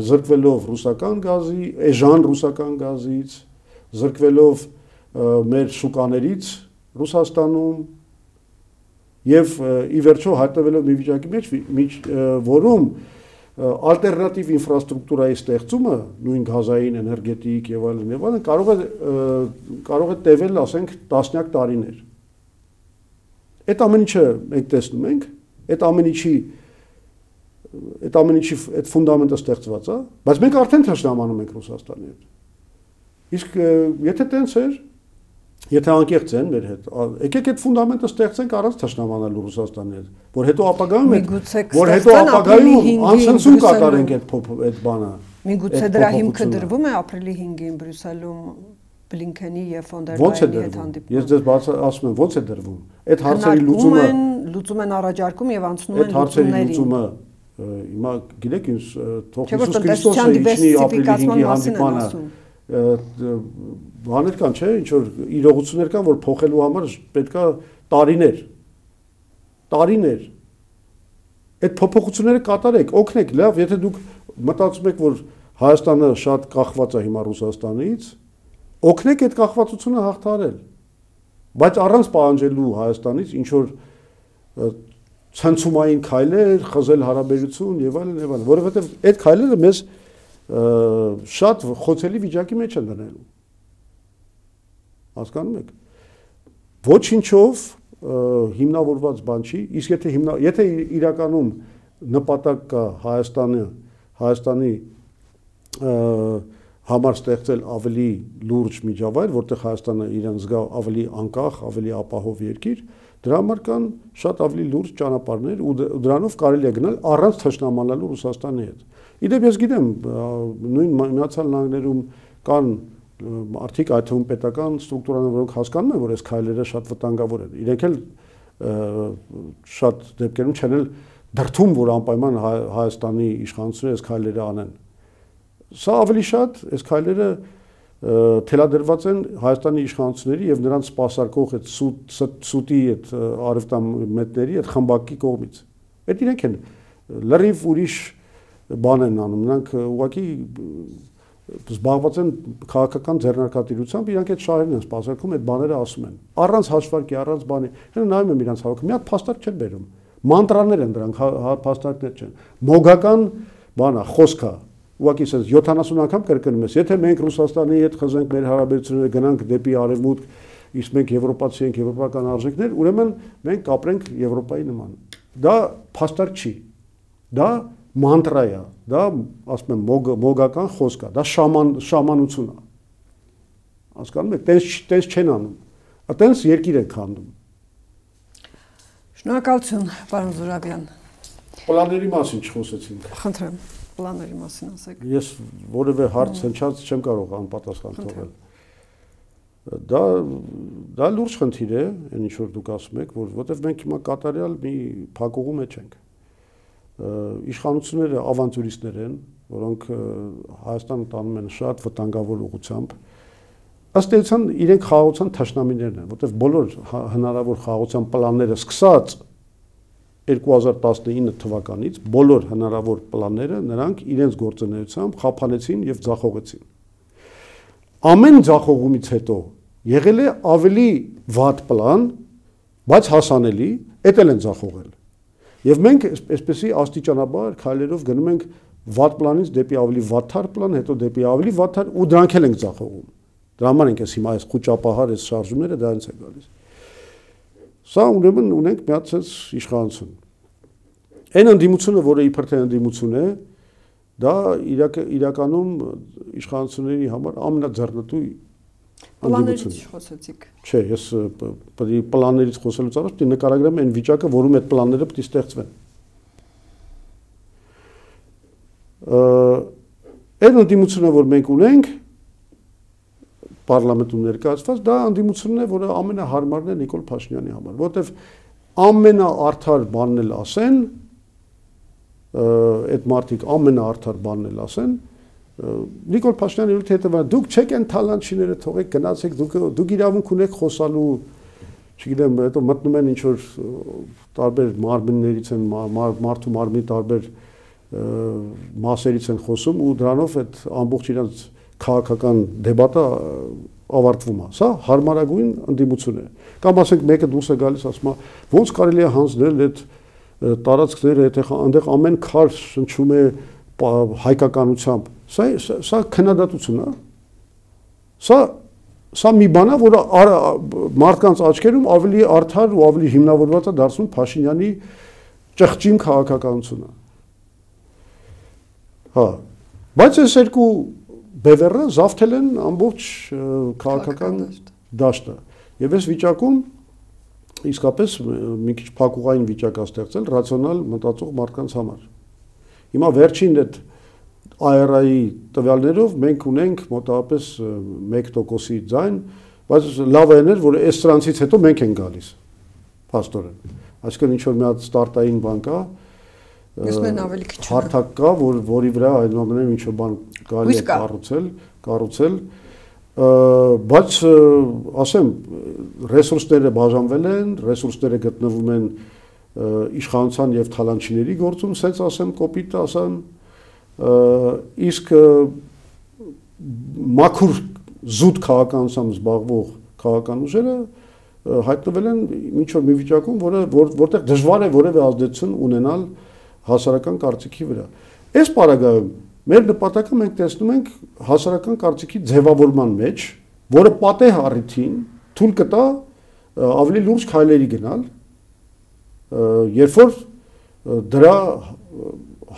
զրկվելով ռուսական գազի, էժան ռուսական գազից, զրկվելով մեր շուկաներից Ռուսաստանում եւ ի վերջո հայտնվելով մի վիճակի մեջ, որում ալտերնատիվ ինֆրաստրուկտուրայի ստեղծումը, նույն գազային, էներգետիկ եւ այլն, կարող է տևել, ասենք, տասնյակ տարիներ։ Այդ ամեն ինչը մենք տեսնում ենք, այդ ֆունդամենտը ստեղծված է, բայց մենք արդեն թշնամանում ենք Ռուսաստանի հետ։ Իսկ եթե տենց էր, եթե անկեղծ են մեր հետ, եկեք այդ ֆունդամենտը ստեղծենք առանց թշնամանալու Ռուսաստանի հետ, որ հետո ապագայում անցնցում կատարենք այդ բանը։ Միգուցե դրա հիմքը դրվում է ապրիլի 5-ին Բրյուսելում Բլինքենի եւ ֆոն դեր Լայենի հետ հանդիպում։ Ես ձեզ ասում եմ, ո՞նց է դրվում։ Այդ հարցերի լուծում են առաջարկում եւ անցնում են լուծումներին։ Հիմա գիտեք ինչ թող Հիսուս Քրիստոսը իջնի ապրիլի 5-ի հանդիպանը բաներ կան, չէ, ինչ որ իրողություններ կան, որ փոխելու համար պետքա տարիներ։ Այդ փոփոխությունները կատարեք, օգնեք, լավ, եթե դուք մտածում եք, որ Հայաստանը շատ կախված է հիմա Ռուսաստանից, օգնեք այդ կախվածությունը հաղթահարել։ Բայց առանց պահանջելու Հայաստանից ինչ որ ցնցումային քայլեր, խզել հարաբերություն եւ այլն, որովհետեւ այդ քայլերը մեզ շատ խոցելի վիճակի մեջ են դնելու։ Հասկանում եք։ Ոչինչով հիմնավորված բան չի, իսկ եթե իրականում նպատակ կա Հայաստանի համար ստեղծել ավելի լուրջ միջավայր, որտեղ Հայաստանը իրեն զգա ավելի անկախ, ավելի ապահով երկիր, դրա համար կան շատ ավելի լուրջ ճանապարհներ ու դրանով կարելի է գնալ առանց թշնամանալու Ռուսաստանի հետ։ Իդեպ ես գիտեմ, նույն Միացյալ Նահանգներում կան արդիկ այդ թվում պետական ստրուկտուրաներ, որոնք հասկանում են, որ այս քայլերը շատ վտանգավոր են։ Իրենք էլ շատ դեպքերում չեն էլ դրդում, որ անպայման Հայաստանի իշխանությունները այս քայլերը անեն։ Սա ավելի շատ այս քայլերը թելադրված են Հայաստանի իշխանությունների եւ նրանց սպասարկող այդ սուտի այդ արևտամետների այդ խմբակի կողմից։ Այդ իրենք են լրիվ ուրիշ բան են անում, նրանք ուղղակի զբաղված են քաղաքական ձեռնարկատիրությամբ, իրանք այդ շահերն են սպասարկում, այդ բաները ասում են։ Առանց հաշվարկի, առանց բանի։ Հենց նայում եմ իրանց հավաքը, մի հատ փաստարկ չեն բերում։ Մանտրաներ են դրանք, փաստարկներ չեն։ Մոգական բան է, խոսք է։ Ուղղակի ասես 70 անգամ կրկնում ես, եթե մենք Ռուսաստանի հետ խզենք մեր հարաբերությունները, գնանք դեպի արևմուտք, իսկ մենք եվրոպացի ենք, եվրոպական արժեքներ, ուրեմն մենք կապրենք Եվրոպայի նման։ Դա փաստարկ չի։ Դա մանտրա է, դա ասում եմ մոգական խոսք է, դա շամանություն է։ Հասկանում եք, տենց չեն անում։ Այտենց երկիր են քանդում։ Շնորհակալություն, պարոն Զուրաբյան։ Պլանների մասին չխոսեցինք։ Խնդրեմ, պլանների մասին ասեք։ Ես որևէ հարց հնչած չեմ կարող անպատասխան թողել։ Դա լուրջ խնդիր է, այն ինչ որ դուք ասում եք, որովհետև մենք հիմա կատարյալ մի փակուղու մեջ ենք։ Իշխանությունները ավանտյուրիստներ են, որոնք Հայաստանը տանում են շատ վտանգավոր ուղղությամբ։ Ըստ էության իրենք խաղաղության թշնամիներն են, որտեղ բոլոր հնարավոր խաղաղության պլանները սկսած 2019 թվականից բոլոր հնարավոր պլանները նրանք իրենց գործունեությամբ խափանեցին եւ ձախողեցին։ Ամեն ձախողումից հետո եղել է ավելի վատ պլան, բայց հասանելի, դա էլ են ձախողել։ Եվ մենք այսպեսի աստիճանաբար քայլերով գնում ենք վատ պլանից դեպի ավելի վատթար պլան, հետո դեպի ավելի վատթար ու դրանք էլ ենք ձախողում։ Դրա համար ենք հիմա այս խոճապահար այս շարժումները դրանից է գալիս։ Սա ուրեմն ունենք մի հատ իշխանություն։ Այն ընդդիմությունը, որը իբր թե ընդդիմություն է, դա իրականում իշխանությունների համար ամենաձեռնտու Պլաններից խոսեցիք։ Չէ, ես պլաններից խոսելուց առաջ պետք է նկարագրեմ այն վիճակը, որում այդ պլանները պետք է ստեղծվեն։ Այն ընդդիմությունը, որ մենք ունենք, պարլամենտում ներկայացված, դա ընդդիմությունն է, որը ամենահարմարն է Նիկոլ Փաշինյանի համար, որովհետև ամենաարդար բանն էլ ասեն, այդ մարդիկ ամենաարդար բանն էլ ասեն, Նիկոլ Փաշինյանը յութ հետևան, դուք չեք են թալանչիները թողեք, գնացեք, դուք իրավունք ունեք խոսալու, չգիտեմ, հետո մտնում են ինչ-որ տարբեր մարմիններից են, մարդու մարմնի տարբեր մասերից են խոսում ու դրանով այդ ամբողջ իրանց քաղաքական դեբատը ավարտվում է։ Սա հարմարագույն ընդդիմություն է։ Կամ ասենք մեկը դուրս է գալիս ասում է, ոնց կարելի է հանձնել այդ տարածքները, այնտեղ ամեն քար շնչում է հայկականությամբ։ Սա քննադատություն է։ Սա մի բան է, որը մարդկանց աչքերում ավելի արդար ու ավելի հիմնավորված է դարձնում Փաշինյանի ճղճիմ քաղաքականությունը։ Հա, բայց այս երկու բևեռը զավթել են ամբողջ քաղաքական դաշտը։ Եվ այս վիճակում իսկապես մի քիչ փակուղային վիճակ է ստեղծել ռացիոնալ մտածող մարդկանց համար։ Հիմա վերջին այդ ARI-ի տվյալներով մենք ունենք մոտավորապես 1%-ի ձայն, բայց լավ է ներ, որ այս սրանցից հետո մենք ենք գալիս, փաստորեն։ Այսինքն ինչ-որ մի հատ ստարտային բան կա, հարթակ կա, որի վրա այնուամենայնիվ ինչ-որ բան կարելի է կառուցել, բայց ասեմ, ռեսուրսները բաժանվել են, ռեսուրսները գտնվում են իշխանության եւ թալանչիների գործում, սենց ասեմ, կոպիտ ասեմ, իսկ մաքուր զուտ քաղաքականությամբ զբաղվող քաղաքական ուժերը հայտնվել են ինչ-որ մի վիճակում, որտեղ դժվար է որևէ ազդեցություն ունենալ հասարակական կարծիքի վրա։ Այս պարագայում մեր նպատակը մենք տեսնում ենք հասարակական կարծիքի ձևավորման մեջ, որը պատեհ առիթին թույլ կտա ավելի լուրջ քայլերի գնալ, երբ որ դրա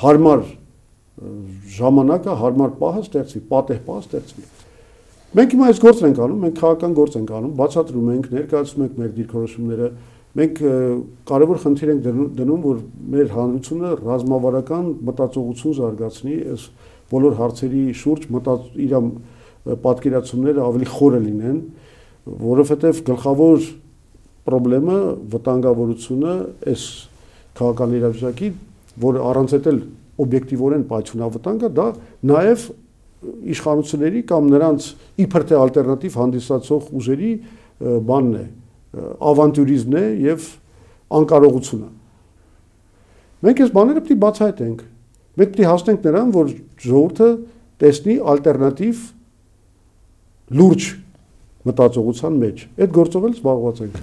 հարմար ժամանակը, հարմար պահը ստեղծվի, պատեհ պահը ստեղծվի։ Մենք հիմա այս գործն ենք անում, մենք քաղաքական գործ ենք անում, բացատրում ենք, ներկայացնում ենք մեր դիրքորոշումները, մենք կարևոր խնդիր ենք դնում, որ մեր հանրությունը ռազմավարական մտածողություն զարգացնի, այս բոլոր հարցերի շուրջ իր պատկերացումները ավելի խորը լինեն, որովհետև գլխավոր պրոբլեմը վտանգավորությունը այս քաղաքական իրավիճակի, որը առանց էլ օբյեկտիվորեն պայթյունավտանգ է, դա նաև իշխանությունների կամ նրանց իբր թե ալտերնատիվ հանդիսացող ուժերի բանն է, ավանտյուրիզմն է եւ անկարողությունը։ Մենք այս բաները պետք է բացահայտենք։ Մենք պետք է հասնենք նրան, որ ժողովուրդը տեսնի ալտերնատիվ լուրջ մտածողության մեջ։ Այդ գործով էլ զբաղված ենք։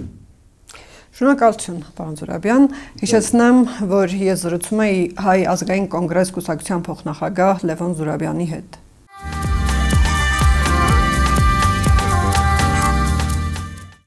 Շնորհակալություն, պարոն Զուրաբյան։ Հիշեցնեմ, որ ես զրուցում էի Հայ ազգային կոնգրես կուսակցության փոխնախագահ Լևոն Զուրաբյանի հետ։